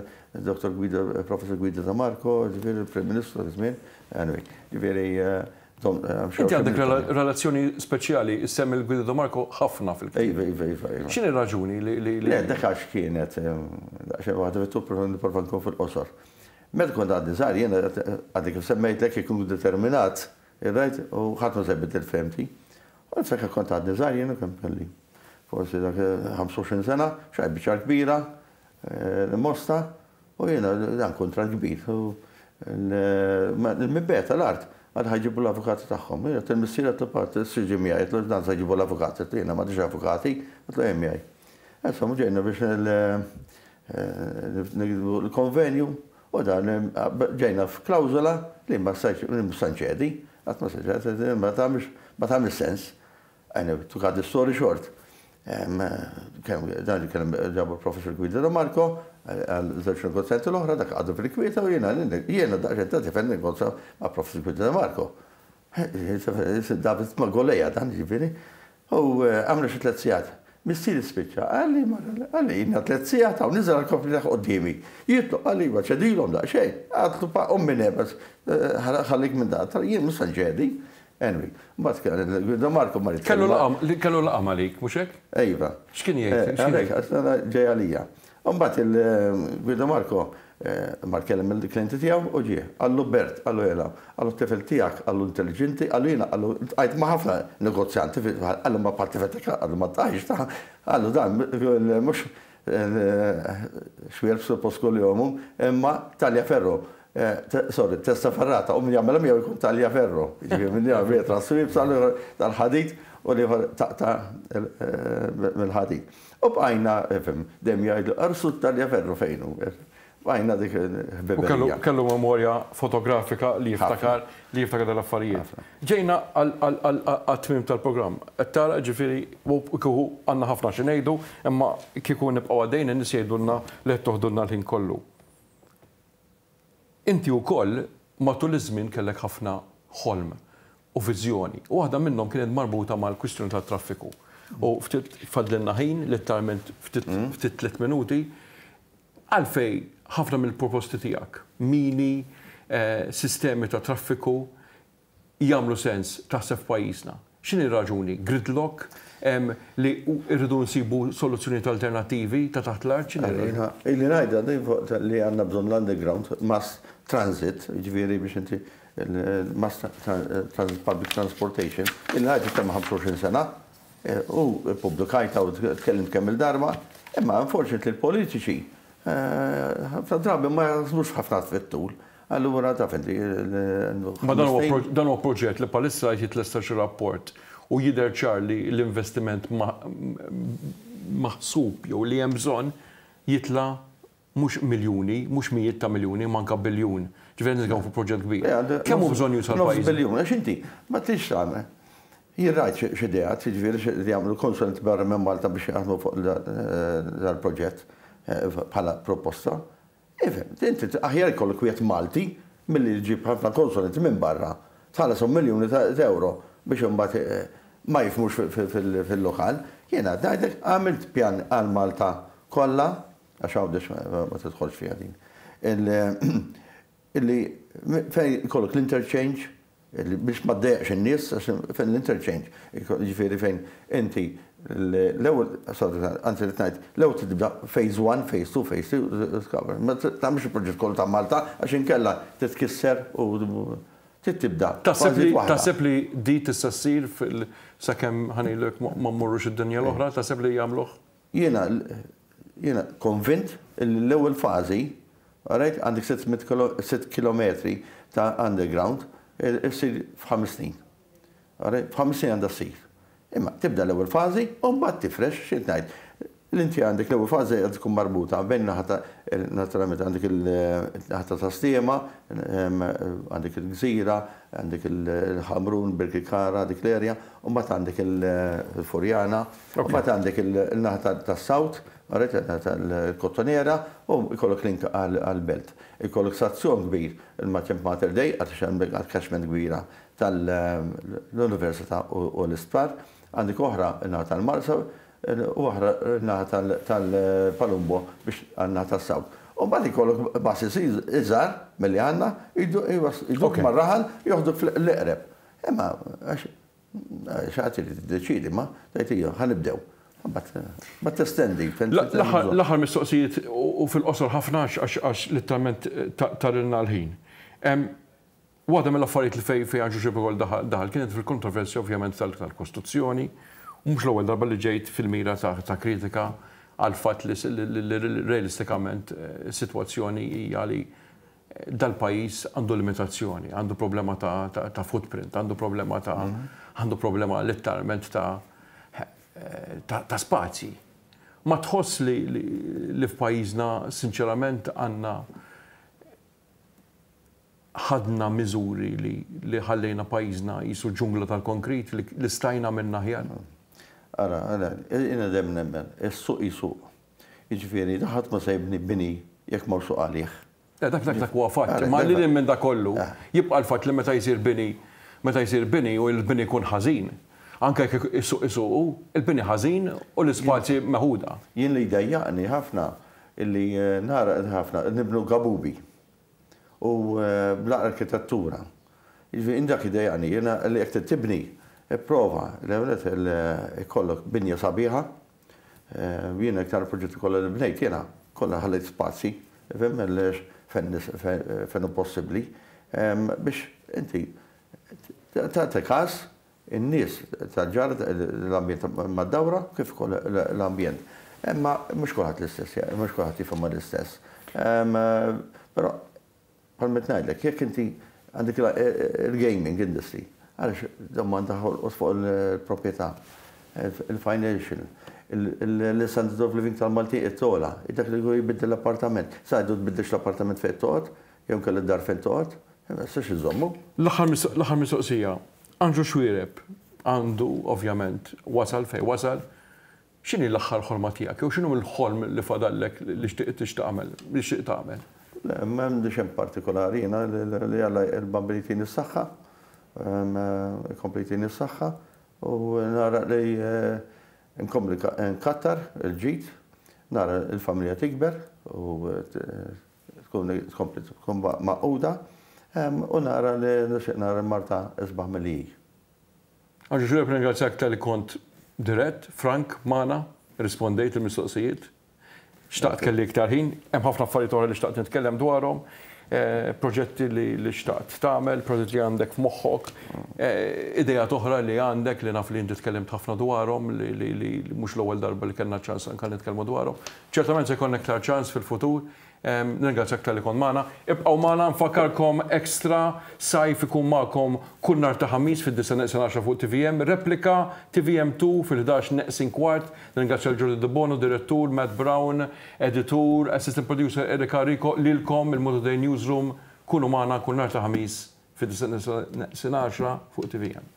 Dr. Guido, Professor Guido De Marco, ġifieri il-Prim Ministru dak iż-żmien. Anyway, ġifieri Inti għandek relazzjoni speċjali, issemmi l-Guido De Marco ħafna fil-ktieb. Iva, iva, iva, iva. X'inhi r-raġuni li. Le, dak għax kienet, daqsxejn waħda fit-tul, però nipprova nkun fil-qosor. Meta kont għadni żgħir, jiena għadni kif semmejtlek, jekk inkun determinat, right, u ħadd ma se jbiddel fehmti. U niftakar kont għadni żgħir jiena kemm kelli forsi dak 25 sena, xgħajt biċċa kbira, l-Mosta, u jiena dan kuntratt kbir. U l-mibgħet tal-art għad ħa jġibu l-avukati tagħhom. Jiena għedt il-missier għedtlu pa, ġie miegħi, għedtlu dan se jġibu l-avukati, għedtlu jiena m'għandix avukati, għedtlu ejja miegħi. Insomma ġejna biex nikdbu l-konvenju u dan ġejna f'klawżola li ma stajtx li mhux se nċedi, qatt ma se nċedi, ma tagħmilx ma tagħmilx sens. Anyway, to cut the story short, dan kien ġabu l-Professor Guido De Marco għal żewġ negozjanti l-oħra dak qagħdu fil-kwieta u jiena jiena daqsxejn ta' tifel negozja ma' Professor Guido De Marco. David ma' Goleja dan ġifieri. U għamlu xi tlett sigħat. Missieri spiċċa, qalli mara, qalli ilna tlett sigħat hawn, niżel għall-koppli ta' quddiemi. Jitlob, qalli iva ċedilhom daqsxejn. Għadtlu pa ommi nebes, ħallik minn dan, jien mhux se nċedi. Anyway, mbagħad kien Guido Marco mar jitkellem. Kellu laqgħa magħlik, mhux hekk? Iva. X'kien jgħid? Għalhekk, għax ġej għalija. U mbagħad il-Guido Marco mar kellem il-klijenti tiegħu u ġie. Qallu Bert, qallu jela, qallu t-tifel tiegħek, qallu intelliġenti, qallu jiena, qallu ltqajt ma' ħafna negozjanti, qallu ma bħal tifel tiegħek, qallu ma ltqajtx ta' qallu dan mhux xwierb suppost kuljom hu, imma Tagliaferro, sorry, Testaferrata, u min jagħmilha miegħu jkun Tagliaferro, jiġifieri min jagħmel wieħed rasu iebsa l-ieħor tal-ħadid u l-ieħor taqta' mill-ħadid. U bqajna, ifhem, dejjem jgħidlu, Arsu Tagliaferro fejn hu? Bqajna dik il-ħbiberija. U kellu memorja fotografika li jiftakar li jiftakar dal-affarijiet. Ġejna għat-tmiem tal-programm. Qed tara, ġifieri, u kieku għandna ħafna xi ngħidu, imma kieku nibqgħu għaddejjin in-nies jgħidulna li qed toħdulna l-ħin kollu. Inti wkoll matul iż-żmien kellek ħafna ħolm u viżjoni, u waħda minnhom kienet marbuta mal-kwistjoni tat-traffiku. U ftit fadlilna ħin, litteralment ftit ftit tliet minuti, għalfejn ħafna mill-proposti tiegħek, mini, sistemi ta' traffiku, jagħmlu sens taħseb f'pajjiżna? X'inhi r-raġuni? Gridlock? Li rridu nsibu soluzzjonijiet alternattivi ta' taħt l-art? X'inhi r-raġuni? Ili ngħidha din fuq li għandna bżonn l-underground mass transit, jiġifieri biex inti mass transit public transportation, ili ngħid iktar minn 25 sena u ppubblikajtha u tkellimt kemm-il darba, imma unfortunately l-politiċi ħafna drabi ma jaħsbux ħafna fit-tul. Allura taf inti. Ma dan huwa dan huwa proġett li bħalissa qed jitlesta xi rapport u jidher ċar li l-investiment maħsub jew li hemm bżonn jitla' mhux miljuni, mhux mijiet ta' miljuni, imma anke biljun. Ġifieri qed nitkellmu fuq proġett kbir. Kemm hu bżonnjuż għal pajjiżna? Nofs biljun, għax inti ma tridx tagħmel. Jien rajt xi ideat, jiġifieri li jagħmlu konsulenti barra minn Malta biex jaħdmu fuq dal-proġett bħala proposta. Ifhem, inti aħjar ikollok wieħed Malti milli ġġib ħafna konsulenti minn barra, tħallashom miljuni ta' ewro biex imbagħad ma jifhmux fil-lokal. Jiena qed ngħidlek għamilt pjan għal Malta kollha, għax Għawdex ma tidħolx fiha din, illi fejn ikollok l-interchange, biex ma ddejjaqx in-nies, għax fejn l-interchange, jiġifieri fejn inti l-ewwel, sorry, anzi rrid ngħid, l-ewwel trid tibda phase 1, phase 2, phase 3, ma tagħmilx il-proġett kollu ta' Malta għax inkella titkisser u trid tibda fażijiet waħda. Taħseb li di tista' ssir sakemm ħa ngħidlek ma mmorrux id-dinja l-oħra, taħseb li jagħmluh? Jiena jiena konvint li l-ewwel fażi, alright, għandek 600 sitt kilometri ta' underground issir f'ħames snin. Alright, f'ħames snin għandha ssir. Imma tibda l-ewwel fażi u mbagħad tifrex x'int ngħid. L-inti għandek l-ewwel fażi għandha tkun marbuta bejn naħa ta' naturalment għandek il-naħa ta' Tas-Sliema, għandek il-Gżira, għandek il-Ħamrun, Birkirkara, dik l-area, u mbagħad għandek il-Furjana, u mbagħad għandek il-naħa tas-South, alright, il-naħa tal-Kottonera, u jkollok link għall-belt. Ikollok stazzjon kbir il-maġenb Mater Dei, għax hemmhekk għal catchment kbira tal-Università u l-isptar. Għandek oħra n-naħa tal-Marsa u oħra n-naħa tal-Palumbo biex għan-naħa tas-South. U mbagħad ikollok buses iżgħar milli għandna, jduk mar-raħal, joħduk fl-eqreb. Imma għax xi ħadd irid jiddeċiedi ma tgħid ejja ħa nibdew. Mbagħad testendi. L-aħħar mistoqsijiet u fil-qosor ħafna għax litteralment tarilna l-ħin. Waħda mill-affarijiet li fejn fejn Anġlu Xebekol daħal kienet fil-kontroversja ovvjament tal-Kostituzzjoni u mhux l-ewwel darba li ġejt fil-mira ta' kritika għall-fatt li realistikament is-sitwazzjoni hija li dal-pajjiż għandu limitazzjoni, għandu problema ta' footprint, għandu problema ta' għandu problema letteralment ta' ta' spazji. Ma tħoss li f'pajjiżna sinċerament għandna ħadna miżuri li li ħallejna pajjiżna qisu ġungla tal-konkrit li li stajna għamilna aħjar? Ara, ara, jiena dejjem nemmen, is-suq jsuq. Jiġifieri, ħadd ma se jibni bini jekk m'hawnx suq għalih. Le, dak dak dak huwa fatt. Imma lil hinn minn dak kollu, jibqa' l-fatt li meta jsir bini, meta jsir bini u l-bini jkun ħażin, anke jekk is-suq isuqu, il-bini ħażin u l-ispazji meħuda. Jien li jdejjaqni ħafna illi nara ħafna nibnu gabubi. U bla arkitettura. Jiġifieri jien dak idejjaqni, jiena li jekk trid tibni, ipprova l-ewwel nett ikollok binja sabiħa. Jiena iktar proġetti kollha li bnejt jiena kollha ħallejt spazji, ifhem, fejn hu possibbli biex inti tagħti każ in-nies tal-ġar, l-ambjent mad-dawra kif ukoll l-ambjent. Imma mhux kulħadd l-istess, mhux kulħadd jifhimha l-istess. Però Bħalma qed ngħidlek, jekk inti għandek il-gaming industry, għaliex dawn ma ndaħħolqos fuq il-proprjetà, il-financial, l-standard of living tal-Maltin qed togħla, dak li jkun jbiddel l-appartament. Sa jgħidu tbiddilx l-appartament fejn toqgħod, jew inkella d-dar fejn toqgħod, ma tistax iżżommu. L-aħħar mistoqsija. Andrew Xuereb għandu ovvjament wasal fejn wasal, X'inhi l-aħħar ħolma tiegħek jew x'inhu l-ħolm li fadallek li xtieq tagħmel, li xtieq tagħmel? Le, m'għandi xejn partikolari jiena li Alla il-Bambin jtini s-saħħa, ikompli jtini s-saħħa u nara li nkompli nkattar il-ġid, nara l-familja tikber u tkun tkompli tkun magħquda u nara li nixtieq nara l-Marta isbaħ milli hi. Anġlu Xuereb nirringrazzjak talli kont dirett, frank magħna, irrispondejt il-mistoqsijiet. Xtaqt kelli iktar ħin, hemm ħafna affarijiet oħra li xtaqt nitkellem dwarhom, proġetti li xtaqt tagħmel, proġetti li għandek f'moħħok, ideat oħra li għandek li naf li inti tkellimt ħafna dwarhom li mhux l-ewwel darba li kellna ċans anke nitkellmu dwarhom. Ċertament se jkollna iktar ċans fil-futur. Nirringrazzjak talli kont magħna. Ibqgħu magħna nfakkarkom Extra Sajf ikun magħkom kull nhar ta' Ħamis fid-disgħa neqsin għaxra fuq tvm, Replika, tvm2 fil-ħdax neqsin kwart. Nirringrazzja lil Jordi Debono, direttur, Matt Brown, editur, assistant producer Erika Rico, lilkom il-Malta Today Newsroom. Kunu magħna kull nhar ta' Ħamis fid-disgħa neqsin għaxra fuq tvm.